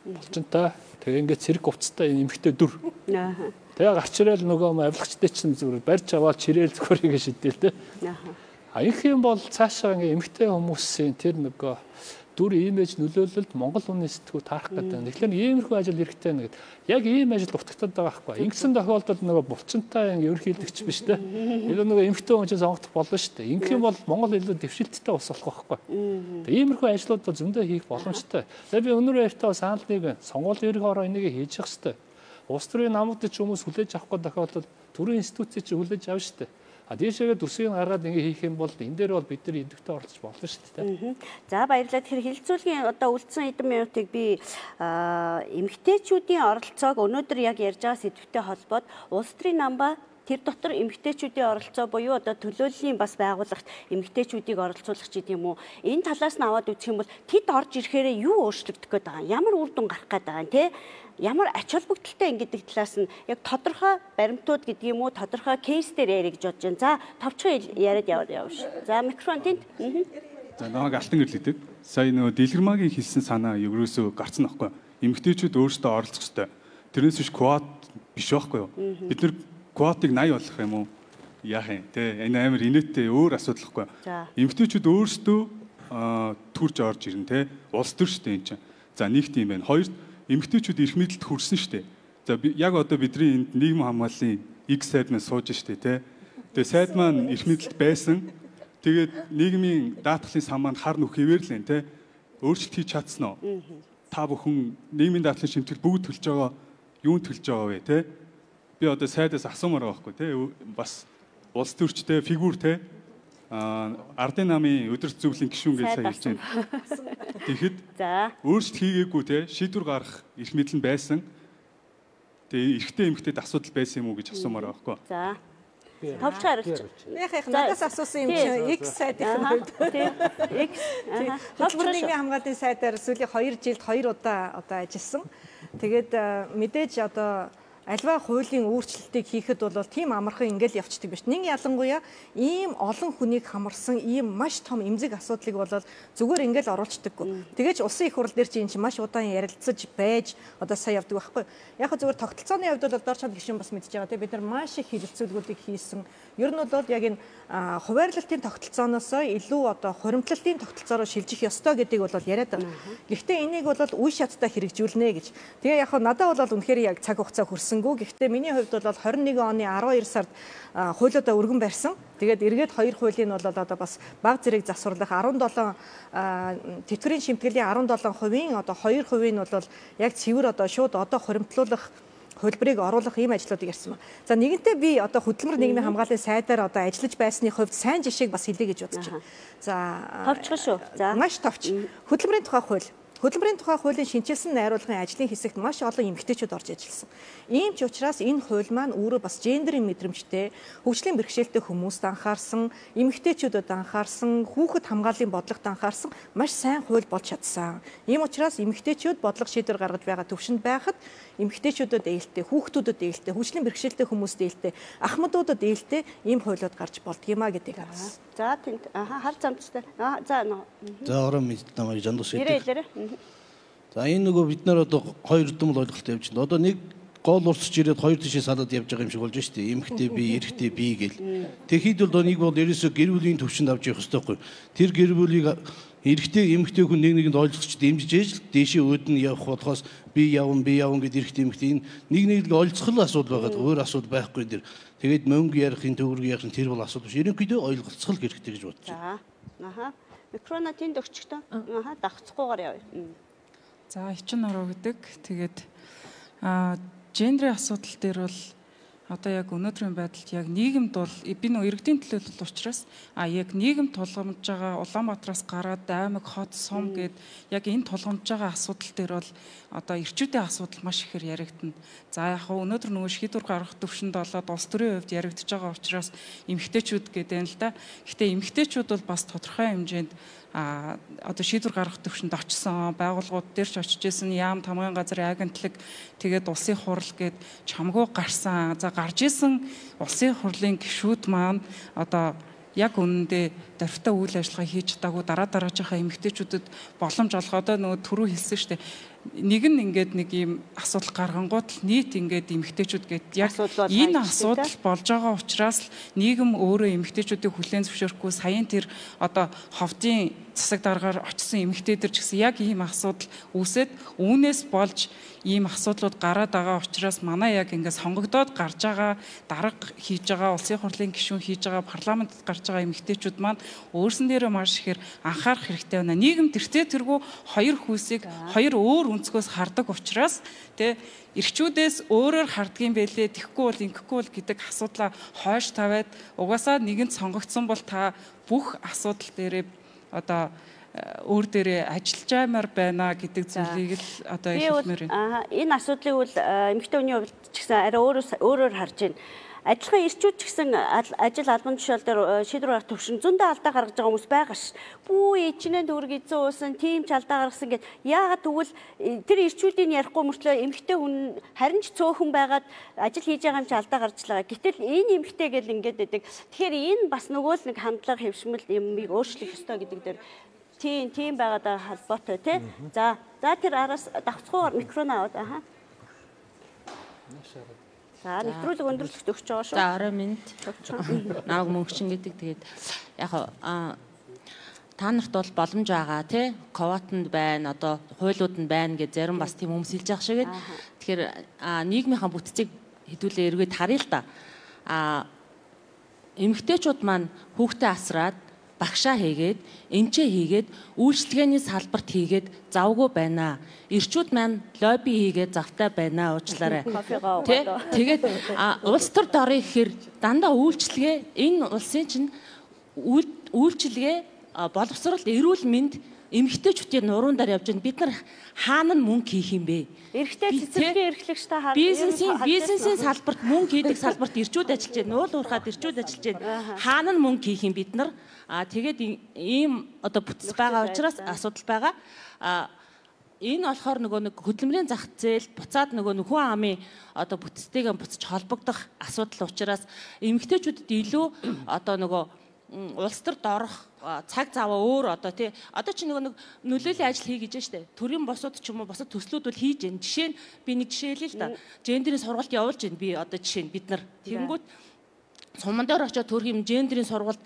Болчинтай тэгээ ингээд цэрэг увцтай эмэгтэй дүр. Тэгээ гарч ирэл нөгөө авилгачтай чинь зүгээр барьж аваад чирээл зөвхөрийг шидээл тэ. Их юм бол цаашаа ингээд эмэгтэй хүмүүсийн тэр нөгөө дүр имиж нөлөөлөлд Монгол хүний сэтгүү таарах гэдэг. Тэгэхээр иймэрхүү ажил хэрэгтэй байна гэдэг. Яг ийм ажил утгатаад байгаа байхгүй. Ингэсэн тохиолдолд нөгөө булчинтай ерөнхийлөгч биш тэ. Илүү нөгөө эмэгтэй хүн чинь сонгох болно шүү дээ. Ингэх юм бол Монгол илүү дэвшилттэй ус болох байхгүй. Иймэрхүү ажлууд бол зөндөө хийх боломжтой. За би өнөөдөр ярьтаа санал нэг сонгуулийн ерөнхий ороо энийг хийж явах хэрэгтэй. Улс төрийн намуудад ч хүмүүс хүлээж авахгүй тохиолдолд төрийн институцийг ч хүлээж авна шүү дээ. Дээшээгээ төсвийг гаргаад ингэ хийх юм бол энэ дээр бол бид нар идэвхтэй оролцож болно шүү дээ. За баярлалаа. Тэгэхээр хилцүүлгийн одоо үлдсэн хэдэн минутыг би эмэгтэйчүүдийн оролцоог өнөөдөр яг ярьж байгаа сэдвтэй холбоод улс төрийн намба тэр дотор эмэгтэйчүүдийн оролцоо буюу одоо төлөөллийн бас байгууллагт эмэгтэйчүүдийг оролцуулах ч гэдэм үү. Энэ талаас нь аваад үзэх юм бол тэд орж ирэхээр юу өөрчлөгдөх гээд байгаа юм? Ямар үр дүн гарах гээд байгаа юм те? Ямар ач холбогдолтой ингэдэг талаас нь яг тодорхой баримтууд гэдэг юм уу тодорхой кейс дээр ярих гэж бодож байна. За товчхон яриад явж. За микрофон тэнд. За намайг Алтан гэрлэдэг. Сая нөгөө Дэлгэрмаагийн хэлсэн санаа ерөөсөө гарцсан байхгүй. Эмэгтэйчүүд өөрсдөө оролцох ёстой. Тэрнээс биш квот биш байхгүй юу? Бид нар квотыг 80 болгох юм уу? Яах юм те? Энэ амар инээдтэй өөр асуудал байхгүй. Эмэгтэйчүүд өөрсдөө төрж орж ирнэ те. Улс төр шүү дээ энэ чинь. За нэг тийм байна. Хоёр эмэгтэйчүүд эрх мэдэлд хүрсэн шүү дээ. За яг одоо бидний энд нийгмийн хамгааллын X сайд маань сууж штэ тий. Тэгээ сайд маань эрх мэдэлд байсан. Тэгээд нийгмийн даатгалын сан маань хар нүх хэвээр л энэ тий. Өөрчлөлт хийж чадсан уу? Та бүхэн нийгмийн даатгалын шимтгэл бүгд төлж байгаа юунд төлж байгаа вэ тий? Би одоо сайдаас асуумаар байгаа байхгүй тий. Бас улс төрчтэй фигюр тий. Ардын намын өдөрт зөвлөлийн гишүүн гэж сайн хэлж байна. Тэгэхэд өөрчлөлт хийгээгүй тий. Шийдвэр гаргах эрх мэдэл нь байсан. Тэгээ эрэгтэй эмэгтэйд асуудал байсан юм уу гэж асуумаар байгаа байхгүй. За. Товчхон хариулж. Яг надаас асуусан юм чинь X сайдын хувьд. X. Холбооны нийгмийн хамгааллын сайдаар сүүлийн 2 жилд 2 удаа одоо ажилласан. Тэгээд мэдээж одоо альва хуулийн өөрчлөлтийг хийхэд бол тийм амархан ингээл явцдаг биш. Нэг ялангуяа ийм олон хүнийг хамарсан ийм маш том эмзэг асуудлыг бол зүгээр ингээл оруулцдаггүй. Тэгэж улсын их хурл дээр чинь маш удаан ярилцаж байж одоо сайн явдаг байхгүй. Яг хөө зүгээр тогтолцооны хувьд бол дор чад гишүүн бас мэдж байгаа тийм бид нар маш их хэлэлцүүлгүүдийг хийсэн. Ер нь бол яг энэ хуваарлалтын тогтолцооноос илүү одоо хуримтлалтын тогтолцоороо шилжих ёстой гэдгийг бол яриад байна. Гэхдээ энийг бол үе шаттай хэрэгжүүлнэ гэж. Тэгээ яг хөө надад бол үнэхээр яг цаг хугацаа хүрсэнгүй. Гэхдээ миний хувьд бол 21 оны 12 сард хуулиудаа өргөн барьсан. Тэгээд эргээд 2 хуулийн бол одоо бас баг зэрэг засварлах 17 тэтгэврийн шимтгэлийн 17% одоо 2% нь бол яг цэвэр одоо шууд одоо хуримтлуулах хөлбөрийг оруулах ийм ажлуудыг ярьсан ба. За нэгэнтээ би одоо хөдөлмөр нийгмийн хамгааллын сайдаар одоо ажиллаж байсны хувьд сайн жишээг бас хэлье гэж бодож байна. За товчхон шүү. За маш товч. Хөдөлмөрийн тухай хууль. Хөдөлмөрийн тухай хуулийн шинжилсэн найруулгын ажлын хэсэгт маш олон эмэгтэйчүүд орж ажилласан. Ийм ч учраас энэ хууль маань өөрөө бас гендерийн мэдрэмжтэй, хөгжлийн бэрхшээлтэй хүмүүст анхаарсан, эмэгтэйчүүдэд анхаарсан, хүүхэд хамгааллын бодлогот анхаарсан маш сайн хууль болж чадсан. Ийм учраас эмэгтэйчүүд бодлого шийдвэр гаргаж байгаа төвшөнд байхад эмэгтэйчүүдэд ээлтэй, хүүхдүүдэд ээлтэй, хөгжлийн бэрхшээлтэй хүмүүст ээлтэй, ахмадуудад ээлтэй ийм хуулиуд гарч болдгиймаа гэдгийг харуулсан. За тэнд хар замцтай. За ороо мэд намайг жандус гэдэг. За энэ нөгөө бид нар одоо хоёр дүмл ойлголттой явж байна. Одоо нэг гол урсч ирээд хоёр тишээ салаад явж байгаа юм шиг болж штэ. Эмэгтэй би, эрэгтэй би гэл. Тэгэхэд бол нэг бол ерөөсө гэр бүлийн төвшөнд авч явах хэрэгтэй байхгүй. Тэр гэр бүлийг эрэгтэй эмэгтэй хүн нэг нэгэнд ойлцож дэмжиж ээж л дээшээ өөдөн явах болохоос би явна гэдэг эрэгтэй эмэгтэй энэ нэг ойлцох л асуудал байгаад өөр асуудал байхгүй дэр. Тэгээд мөнгө ярихын төгрөг ярихын тэр бол асуудал биш. Ерөнхийдөө ойлголцох л хэрэгтэй гэж бодож байна. Аха. Микрофон тэнд өгчтэй. Аха дагцахгүйгээр явъя. За эчин ороо гэдэг. Тэгээд гендрийн асуудал дээр бол одоо яг өнөөдрийн байдалд яг нийгэмд бол би нөө иргэдийн төлөөлөл учраас яг нийгэм тулгамж байгаа Улаанбаатараас гараад аймаг хот сум гэд яг энэ тулгамж байгаа асуудал дээр бол одоо эрчүүдийн асуудал маш ихээр яригдана. За яг өнөөдөр нөгөө шийдвэр гаргах төвшөнд болоод улс төрийн хувьд яригдж байгаа учраас эмэгтэйчүүд гэдэг юм л да. Гэхдээ эмэгтэйчүүд бол бас тодорхой хэмжээнд одоо шийдвэр гаргах төвшөнд очсон байгууллагууд дээр ч очиж исэн яам тамгын газрын агентлаг тэгээд улсын хурал гээд чамгүй гарсан за гарч исэн улсын хурлын гишүүд маань одоо яг үнэндээ дөрвтэй үйл ажиллагаа хийж чадаагүй дараажийнхаа эмэгтэйчүүдэд боломж олгох одоо нөгөө түрүү хэлсэн шүү дээ. Нэг нь ингээд нэг юм асуудал гаргангууд л нийт ингээд эмэгтэйчүүд гээд яг энэ асуудал болж байгаа учраас нийгэм өөрөө эмэгтэйчүүдийг хүлээн зөвшөөрөхгүй саяын тэр одоо ховдын засаг даргаар очсон эмэгтэйдэр ч гэсэн яг ийм асуудал үүсээд үүнээс болж ийм асуудлууд гараад байгаа учраас манай яг ингээд сонгогдоод гарч байгаа дарга хийж байгаа улсын хурлын гишүүн хийж байгаа парламентд гарч байгаа эмэгтэйчүүд маань өөрсөн дээрээ маш ихээр анхаарах хэрэгтэй байна. Нийгэм тэртээ тэргүй хоёр хүүсийг хоёр өөр өнцгөөс хардаг учраас тэ эрчүүдээс өөрөөр хардгийн байлээ тэхгүй бол ингэхгүй бол гэдэг асуудлаа хойш тавиад угаасаа нэгэнд сонгогдсон бол та бүх асуудал дээрээ одоо өөр дээрээ ажиллаж аймаар байна гэдэг зүйлийг л одоо хэлмээр байна. Энэ асуудлыг бол эмэгтэй хүний хувьд ч гэсэн арай өөрөөр харж байна. Адилхан эрчүүд ч гэсэн ажил албан тушаал дээр шийдвэр гаргах төвшин зөндөө алдаа гаргаж байгаа хүмүүс байгаа ш. Бүү ичнээ дүүрэг эзэн уусан, тийм ч алдаа гаргасан гэд яагаад тэгвэл тэр эрчүүдийн ярихгүй мөртлөө эмэгтэй хүн харин ч цөөхөн байгаад ажил хийж байгаа юм чи алдаа гарчлаа. Гэтэл энэ эмэгтэй гэл ингээд байдаг. Тэгэхээр энэ бас нөгөө л нэг хандлага хэвшмэл юмыг өөрчлөх ёстой гэдэг дээр тийм байгаад холбоотой тий. За тэр араас давцгуугаар микрофон аваад За нэвтрүүлэг өндөрлөгт өгч байгаа шүү. За орой минь. Нааг мөнгчин гэдэг тэгээд яг та нарт бол боломж байгаа тий коватанд байна одоо хуулиуд нь байна гэж зарим бас тийм хүмүүс хэлж байгаа шиг. Тэгэхээр нийгмийнхаа бүтцийг хэдүүлээ эргээд харъя л да. Эмэгтэйчүүд маань хүүхдээ асраад багшаа хийгээд, эмчээ хийгээд, үйлчлэгээний салбарт хийгээд завгүй байна. Ирчүүд маань лобби хийгээд завтай байна уучлаарай. Тэгээд улс төр дорыг гэхээр дандаа үйлчлэгээ энэ улсын чинь үйлчлэгээ боловсрол эрүүл мэнд эмэгтэйчүүдийн нуруундаар явж байна. Бид нар хаана нь мөнгө хийх юм бэ? Эрэгтэй цэцэрлэгийн эрхлэгч та хараа. Бизнесийн салбарт мөнгө хийдэг салбарт ирчүүд ажиллаж байна. Уул уурхаад ирчүүд ажиллаж байна. Хаана нь мөнгө хийх юм бид нар? Тэгээд ийм одоо бүтц байгаа учраас асуудал байгаа. Энэ болохоор нөгөө нэг хөдөлмөрийн зах зээл буцаад нөгөө хүн амын одоо бүтцтэйгээ буцаж холбогдох асуудал учраас эмэгтэйчүүдэд илүү одоо нөгөө улс төрд орох цаг заваа өөр одоо тий одоо чи нэг нөлөөллийн ажил хий гэж штэ төрийн босууд ч юм уу босод төслүүд бол хийж гэн жишээ нь би нэг жишээ хэлээ л да гендерийн сургалт явуулж гэн би одоо жишээ нь бид нар тэгэнгүүт суман дээр очиод төрхийн гендерийн сургалт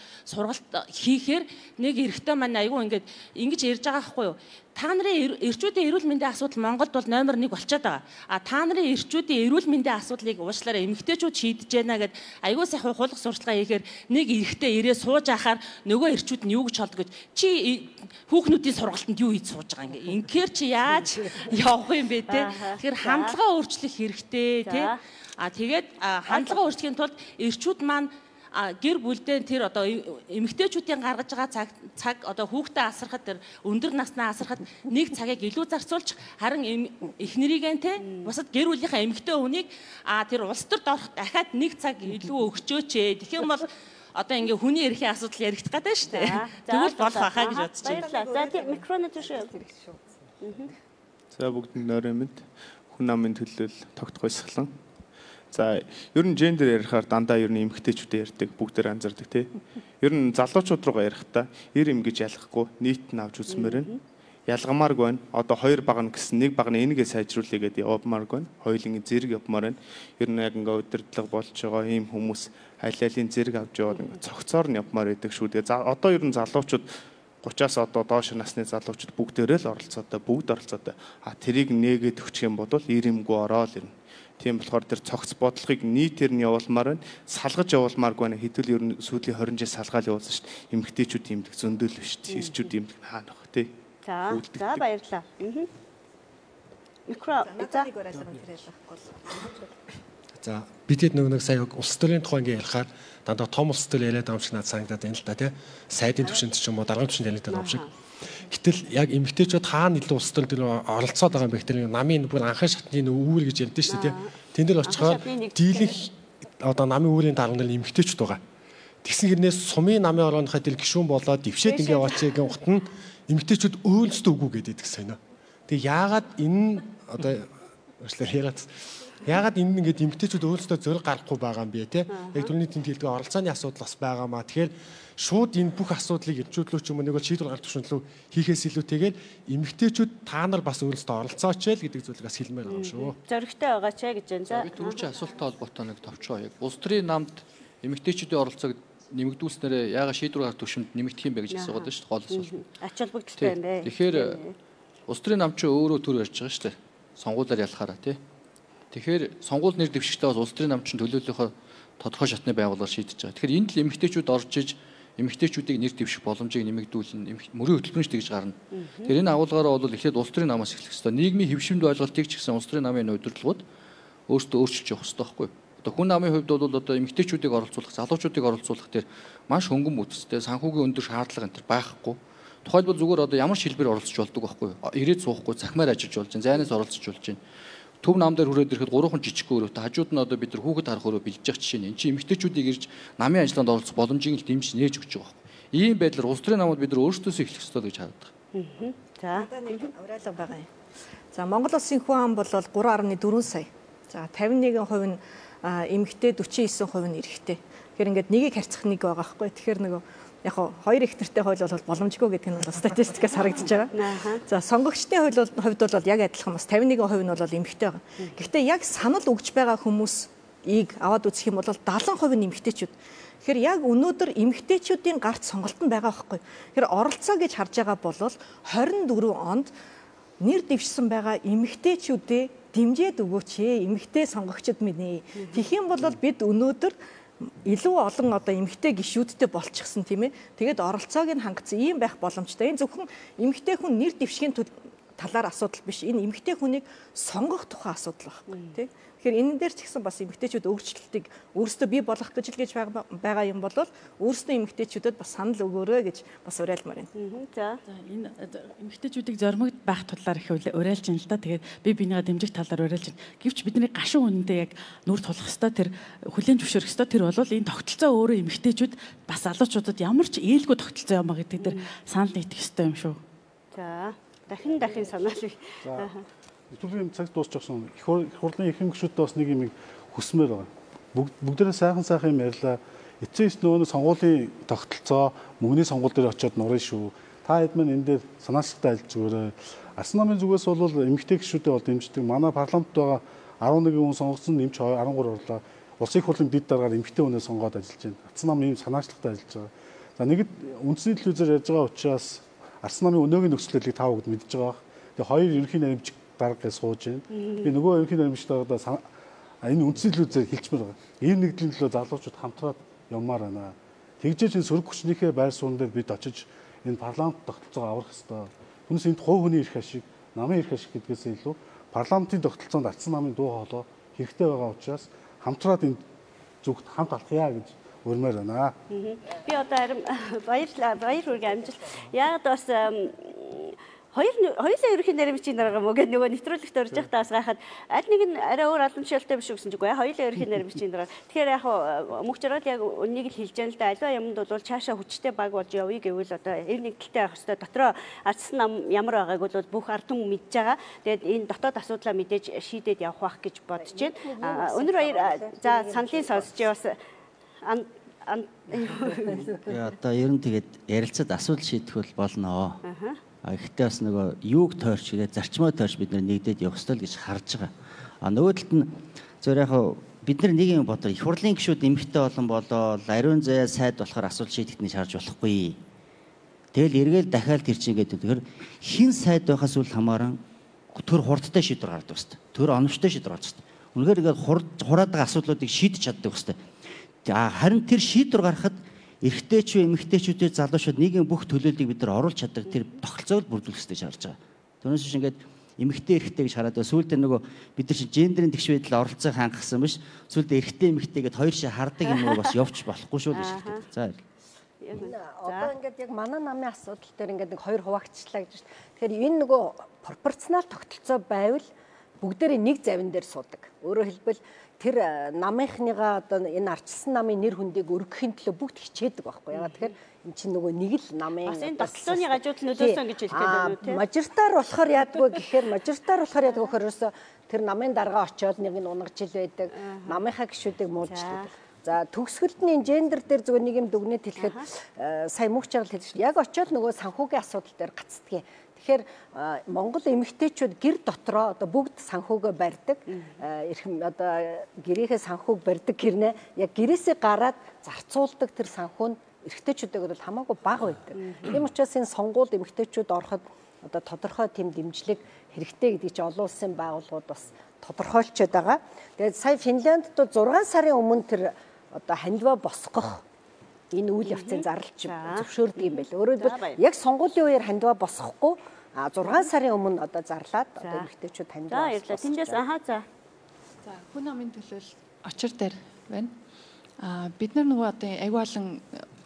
хийхээр нэг эрэгтэй маань айгүй ингэж ярьж байгаа байхгүй юу та нарын эрчүүдийн эрүүл мэндийн асуудал Монголд бол номер 1 болчиход байгаа. Та нарын эрчүүдийн эрүүл мэндийн асуудлыг уучлаарай эмэгтэйчүүд шийдэж байна гэд айгүй сайхан хулах сурталчилгаа хийхээр нэг эрэгтэй ирээ сууж ахаар нөгөө эрчүүд нь юу гэж холд гэж чи хүүхнүүдийн сургалтанд юу хийж сууж байгаа ингээ. Инхээр чи яаж явах юм бэ те. Тэгэхээр хандлага өөрчлөх хэрэгтэй те. Тэгээд хандлага өөрчлөхийн тулд эрчүүд маань гэр бүлдээ тэр одоо эмэгтэйчүүдийн гаргаж байгаа цаг одоо хүүхдээ асрахад тэр өндөр наснаа асрахад нэг цагийг илүү зарцуулж харин эхнэрийгэн те бусад гэр бүлийнхаа эмэгтэй хүнийг тэр улс төрд орох дахиад нэг цаг илүү өгчөөч ээ. Тэгэх юм бол одоо ингээ хүний эрхийн асуудал яригдах гэдэг шүү дээ. Тэгвэл болох байхаа гэж бодож байна. За тийм микрофон төш. За бүгдэнд нойрын мэд хүн намын төлөөл тогт гойсглан. За ер нь гендер ярихаар дандаа ер нь эмэгтэйчүүдээ ярьдаг бүгдээр анзаардаг тий. Ер нь залуучууд руугаа ярихдаа эр эм гэж ялахгүй нийт нь авч үзмээр байна. Ялгамааргүй байна. Одоо хоёр баг нь гэсэн нэг баг нь энэгээ сайжруулъя гэдэг явмааргүй байна. Хоёулын зэрэг явмаар байна. Ер нь яг ингээ удирдлага болж байгаа ийм хүмүүс аль алийн зэрэг авч яваад ингээ цогцоор нь явмаар байдаг шүү. Тэгээ одоо ер нь залуучууд 30-аас одоо доош насны залуучууд бүгдээрээ л оролцоотой бүгд оролцоотой. Тэрийг нээгээд өгчих юм бол эр эмгүй ороод ирнэ. Тийм болохоор тэр цогц бодлогыг нийтээр нь явуулмаар байна. Салгаж явуулмааргүй байна. Хэдүүл ер нь сүүлийн 20 жил салгаал явуулсан шүү дээ. Эмэгтэйчүүд имдэг зөндөөл биш. Ирчүүд имдэг хаана баг тий. За баярлалаа. За бидэд нэг сая улс төрийн тухай ингээ ярихаар дандаа том улс төр яриад байгаа юм шиг надад санагдаад байна л да тий. Сайдын түвшинд ч юм уу даргын түвшинд яриад байгаа юм шиг. Гэтэл яг эмэгтэйчүүд хаана илүү улс төр оролцоод байгаа юм бэ гэхээр намын бүр анхны шатны үүр гэж ярьдэн шүү дээ тий. Тэн дээр очихоор дийлэнх одоо намын үүрийн дарга нар эмэгтэйчүүд байгаа. Тэгсэн хэрнээс сумын намын орооныхаа тэл гишүүн болоод дэвшээд ингээ яваач гэн ухт нь эмэгтэйчүүд өөлсдөө үгүй гэдэг сайн аа. Тэгээ яагаад энэ одоо яагаад энэ ингээд эмэгтэйчүүд өөрсдөө зөриг гаргахгүй байгаа юм бэ те? Яг түрүүний тэнд хэлдэг оролцооны асуудал бас байгаамаа. Тэгэхээр шууд энэ бүх асуудлыг ирчүүдлөө ч юм уу нэг бол шийдвэр гаргах төвшөнлөө хийхээс илүүтэйгээр эмэгтэйчүүд та нар бас өөрсдөө оролцооч л гэдэг зүйлийг бас хэлмээр байгаа юм шүү. Зөрөгтэй байгаа ч гэж байна. Би түрүүчийн асуулттай холбоотой нэг товчоо яг улс төрийн намд эмэгтэйчүүдийн оролцоог нэмэгдүүлснээр яагаад шийдвэр гаргах төвшөнд нэмэгдэх юм бэ гэж асуугаад байна шүү дээ. Гол асуулт. Ач холбогдолтой юм бэ. Тэгэхээр улс төрийн нам ч өөрөө төр ярьж байгаа шүү дээ. Сонгуулиар ялахаараа тий. Тэгэхээр сонгуул нэр дэвшигчтэй бас улс төрийн нам чинь төлөөллийнхөө тодорхой шатны байгууллагаар шийдэж байгаа. Тэгэхээр энд л эмэгтэйчүүд орж иж эмэгтэйчүүдийг нэр дэвших боломжийг нэмэгдүүлнэ. Мөрийн хөтөлбөрч тэгж гарна. Тэгэхээр энэ агуулгаараа бол эхлээд улс төрийн намаас эхлэх хэрэгтэй. Нийгмийн хэвшимд ойлголтыг ч гэсэн улс төрийн намын удирдлагууд өөрсдөө өөрчилж явах хэрэгтэй байхгүй юу? Одоо хүн намын хувьд бол одоо эмэгтэйчүүдийг оролцуулах, залуучуудыг оролцуулах дээр маш хөнгөн бүтцтэй санхүүгийн өндөр шаардлага энэ байхгүй. Тухайлбал зүгээр одоо ямар шилбэр оролцож болдог байхгүй юу? Ирээд суухгүй, цахимаар ажиллаж болж, зайнаас оролцож болж байна. Төв нам дээр хүрээд ирэхэд 3 жижиг өрөөтэй хажууд нь одоо бид нар хүүхэд харах өрөө бэлдэж явах жишээ нь. Энд чинь эмэгтэйчүүдийг ирж намын ажиллагаанд оролцох боломжийг л дэмжиж нээж өгч байгаа байхгүй. Ийм байдлаар улс төрийн намууд бид нар өөрсдөөсөө эхлэх ёстой гэж хараад байгаа. За авраалга байгаа юм. За Монгол улсын хүн ам бол 3.4 сая. За 51% нь эмэгтэй 49% нь эрэгтэй. Тэгэхээр ингээд нэгийг харьцах нэг байгаа байхгүй. Тэгэхээр нөгөө яг хоёр их нэртэй хууль бол боломжгүй гэдэг нь бол статистикаас харагдаж байгаа. За сонгогчдын хувьд бол яг адилхан бас 51% нь бол эмэгтэй байгаа. Гэхдээ яг санал өгж байгаа хүмүүс аваад үзэх юм бол 70% нь эмэгтэйчүүд. Тэгэхээр яг өнөөдөр эмэгтэйчүүдийн гарт сонголт нь байгаа байхгүй. Тэгэхээр оролцоо гэж харж байгаа бол 24 онд нэр дэвшсэн байгаа эмэгтэйчүүдээ дэмжиж өгөөч ээ, эмэгтэй сонгогчд минь ээ. Тэгэх юм бол бид өнөөдөр илүү олон одоо эмэгтэй гишүүдтэй болчихсон тийм ээ. Тэгээд оролцоог нь хангацсан ийм байх боломжтой. Энэ зөвхөн эмэгтэй хүн нэр дэвшгийн талаар асуудал биш. Энэ эмэгтэй хүнийг сонгох тухай асуудал байхгүй тийм. Тэгэхээр энэ дээр ч гэсэн бас эмэгтэйчүүд өөрчлөлтийг өөрсдөө бий болгох гэж л гэж байгаа юм бол өөрсдөө эмэгтэйчүүдэд бас санал өгөөрэй гэж бас уриалмаар байна. За энэ эмэгтэйчүүдийг зоримогд байх талаар их уриалж байна л да. Тэгээд би бинийгаа дэмжих талаар уриалж байна. Гэвч бидний гашуун үнэндээ яг нүр тулах хэвээр тэр хүлээн зөвшөөрөх хэвээр тэр бол энэ тогтолцоо өөрөө эмэгтэйчүүд бас залуучуудад ямар ч ээлгүй тогтолцоо юм а гэдэг дээр санал нийтэх хэвээр юм шүү. За дахин санаалыг. Өтөлийн цаг дуусчихсан. Их хурлын ихэнх гишүүдтэй бас нэг юм хүсмээр байгаа. Бүгдээрээ сайхан юм ярьлаа. Эцсийн нөгөө сонгуулийн тогтолцоо мөнгөний сонгуул дээр очиод нурна шүү. Та хэд мэн энэ дээр санаачлагтай альж зүгээрээ. Арслан намын зүгээс бол эмэгтэй гишүүдэд бол дэмждэг. Манай парламент байгаа 11 хүн сонгогдсон нэмж 13 орлоо. Улсын их хурлын дэд дараагаар эмэгтэй хүнээ сонгоод ажиллаж байна. Арслан нам ийм санаачлагтай ажиллаж байгаа. За нэгд үндэсний телевизээр ярьж байгаа учраас Арслан намын өнөөгийн нөхцөлийг та бүгд мэдж байгаа. Тэгээ хоёр ерөнхий наримч дарга сууж байна. Би нөгөө ерөнхий наримчтайгаа энэ үндсний төлөв хэлчмээр байгаа. Ийм нэгдлийн төлөө залуучууд хамтраад явмаар байна. Тэгжээж энэ сөрөг хүчнийхээ байр суурин дээр бид очиж энэ парламент тогтолцоог аврах хэрэгтэй. Түүнээс энд хувь хүний эрх ашиг, намын эрх ашиг гэдгээс илүү парламентын тогтолцоонд Арслан намын дуу хоолой хэрэгтэй байгаа учраас хамтраад энэ зүгт хамт алхъя гэж өрмөр байна. Би одоо харин баяр хүргээ амжилт. Яг бас хоёулаа ерөнхий наримчийн дарга мөгөө нөгөө нэвтрүүлэгт орж байхдаа бас гайхаад аль нэг нь арай өөр албан тушаалтай биш үгсэн чигүй хоёулаа ерөнхий наримчийн дарга. Тэгэхээр яг мөнх жаргал яг үнийг л хэлж яана л да. Альва юмд бол цаашаа хүчтэй баг болж явъя гэвэл одоо эв нэгдэлтэй байх хэвээр дотроо Арслан нам ямар байгааг бол бүх ард түмэн мэдж байгаа. Тэгээд энэ дотоод асуудлаа мэдээж шийдээд явах байх гэж бодож байна. Өнөр баяр за саналын сонсч бас одоо ер нь тэгээд ярилцаад асуудал шийдэх бол болно. Гэхдээ бас нөгөө юуг тойрч гэдэг зарчмаа тойрч бид нэгдээд явах ёстой л гэж харж байгаа. Нөгөө талд нь зөвөр яг бид нэг юм бодоо их хурлын гишүүд эмэгтэй олон болоо ариун заяа сайд болохоор асуудал шийдэхний шаарж болохгүй. Тэгэл эргээл дахиад тэр чинь гэдэг тэгэхээр хин сайд байхаас үл хамааран төр хурдтай шийдвэр гаргадаг хэвээр. Төр оновчтой шийдвэр гаргадаг хэвээр. Үнэхээр ингээд хураад байгаа асуудлуудыг шийдэж чаддаг хэвээр. Харин тэр шийдвэр гаргахад эрэгтэйч эмэгтэйчүүдийн залуучууд нийгмийн бүх төлөөллийг бид нар оруулж чаддаг тэр тогтолцоог бүрдүүлэх хэрэгтэй шаарж байгаа. Түүнээс биш ингээд эмэгтэй эрэгтэй гэж хараад сүүлдээ нөгөө бид нар чинь гендерийн тэгш байдал оролцоог хангасан биш сүүлдээ эрэгтэй эмэгтэй гэдээ хоёр шээ хардаг юм уу бас явж болохгүй шүү гэж хэлдэг. За одоо ингээд яг манай намын асуудал дээр ингээд нэг хоёр хуваагдчихлаа гэж. Тэгэхээр энэ нөгөө пропорционал тогтолцоо байвал бүгдээрээ нэг завин дээр суудаг. Өөрөөр хэлбэл тэр намынхныгаа одоо энэ арчилсан намын нэр хүндийг өргөхийн төлөө бүгд хичээдэг байхгүй яагаад тэгэхээр эн чинь нөгөө нэг л намын бас энэ тогтолцооны гажууд нөлөөсөн гэж хэлэх гэдэг үү тийм мажоритар болохоор яадгүй гэхээр мажоритар болохоор яадгүй гэхээр ерөөсө тэр намын дарга очиод нэг нь унгаж ил байдаг намынхаа гишүүдийг муулждаг. За төгсгөлд нь гендер дээр зүгээр нэг юм дүгнэлт хэлэхэд сая мөнх жаргал хэлсэн яг очиод нөгөө санхүүгийн асуудал дээр гацдгийг. Тэгэхээр Монгол эмэгтэйчүүд гэр дотроо одоо бүгд санхүүгөө барьдаг. Одоо гэрээхээ санхүүг барьдаг гэрнээ яг гэрээсээ гараад зарцуулдаг тэр санхүү нь эрэгтэйчүүдээ бол хамаагүй бага байдаг. Тийм учраас энэ сонгуульд эмэгтэйчүүд ороход одоо тодорхой тийм дэмжлэг хэрэгтэй гэдэг чинь олон улсын байгууллагууд бас тодорхойлцоод байгаа. Тэгээд сая Финляндд 6 сарын өмнө тэр одоо хандива босгох энэ үйл явцын зарлж зөвшөөрдөг юм байл. Өөрөөр хэлбэл яг сонгуулийн үеэр хандива босгохгүй 6 сарын өмнө одоо зарлаад одоо эмэгтэйчүүд хандива босгох. Тэндээс за хүн амын төлөөл очир дээр байна. Бид нар нөгөө одоо аягүй олон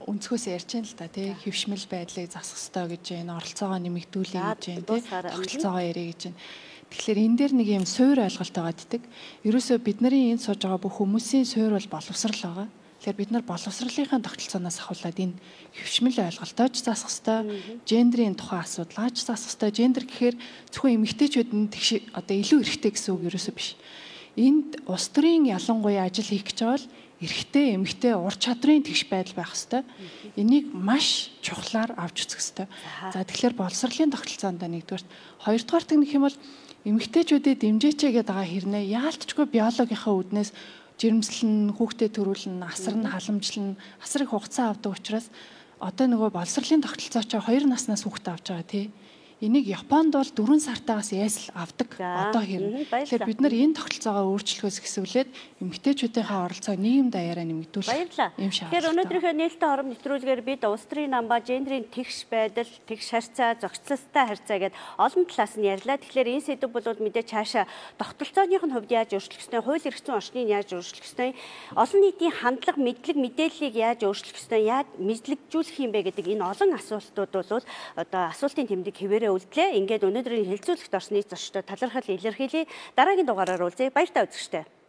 өнцгөөс ярьж байна л да тий хөвшмөл байдлыг засах хэрэгтэй гэж байна, оролцоогоо нэмэгдүүлэх гэж байна, тий тогтолцоогоо ярих гэж байна. Тэгэхээр энэ дээр нэг юм суур ойлголт байгаа гэдэг. Ерөөсөө бид нарын энд сууж байгаа бүх хүмүүсийн суур бол боловсрал байгаа. Тэгэхээр бид нар боловсролынхаа тогтолцооноос ахуулаад энэ хөвшмөл ойлголтоо ч засах хэрэгтэй, гендерийн тухай асуудлаа ч засах хэрэгтэй. Гендер гэхээр зөвхөн эмэгтэйчүүд нь тэгш одоо илүү эрхтэй гэсэн үг ерөөсөө биш. Энд улс төрийн ялангуяа ажил хийх гэж байгаа бол эрхтэй, эмэгтэй ур чадрын тэгш байдал байх хэвээр. Энийг маш чухлаар авч үзэх хэвээр. За тэгэхээр боловсролын тогтолцоонд нэгдүгээр, хоёрдугаар гэх юм бол эмэгтэйчүүдэд дэмжээч гэдэг байгаа хэрнээ яалтчгүй биологийнхаа үүднээс жирэмслэн, хүүхдэд төрүүлнэ, асар нь халамжлан, асар их хугацаа авдаг учраас одоо нөгөө боловсролын тогтолцоочоо 2 наснаас хүүхдэд авч байгаа тий. Энийг Японд бол 4 сартаагаас ясл авдаг одоо хэрнэ. Тэгэхээр бид нар энэ тогтолцоогоо өөрчлөхөөс хэсвүүлээд эмэгтэйчүүдийнхээ оролцоог нийгэм даяараа нэмэгдүүлэх юм шиг. Тэгэхээр өнөөдрийнхөө нээлттэй хором нэвтрүүлгээр бид улсын намба гендрийн тэгш байдал, тэгш харьцаа, зохицолтой харьцаа гэдэг олон талаас нь ярьлаа. Тэгэхээр энэ сэдв бол мэдээ цаашаа тогтолцооных нь хувьд яаж өөрчлөх ёстой, хууль эрх зүйн орчныг яаж өөрчлөх ёстой, олон нийтийн хандлага, мэдлэг, мэдээллийг яаж өөрчлөх ёстой, яаж мэдлэгжүүлэх юм бэ гэдэг энэ олон асуултууд бол одоо асуултын тэмдэг хэвээрээ үлдлээ. Ингээд өнөөдрийн хэлцүүлэгт орсны зочдод талархал илэрхийлье. Дараагийн дугаараар уулзъя. Баяртай үзэгчдээ.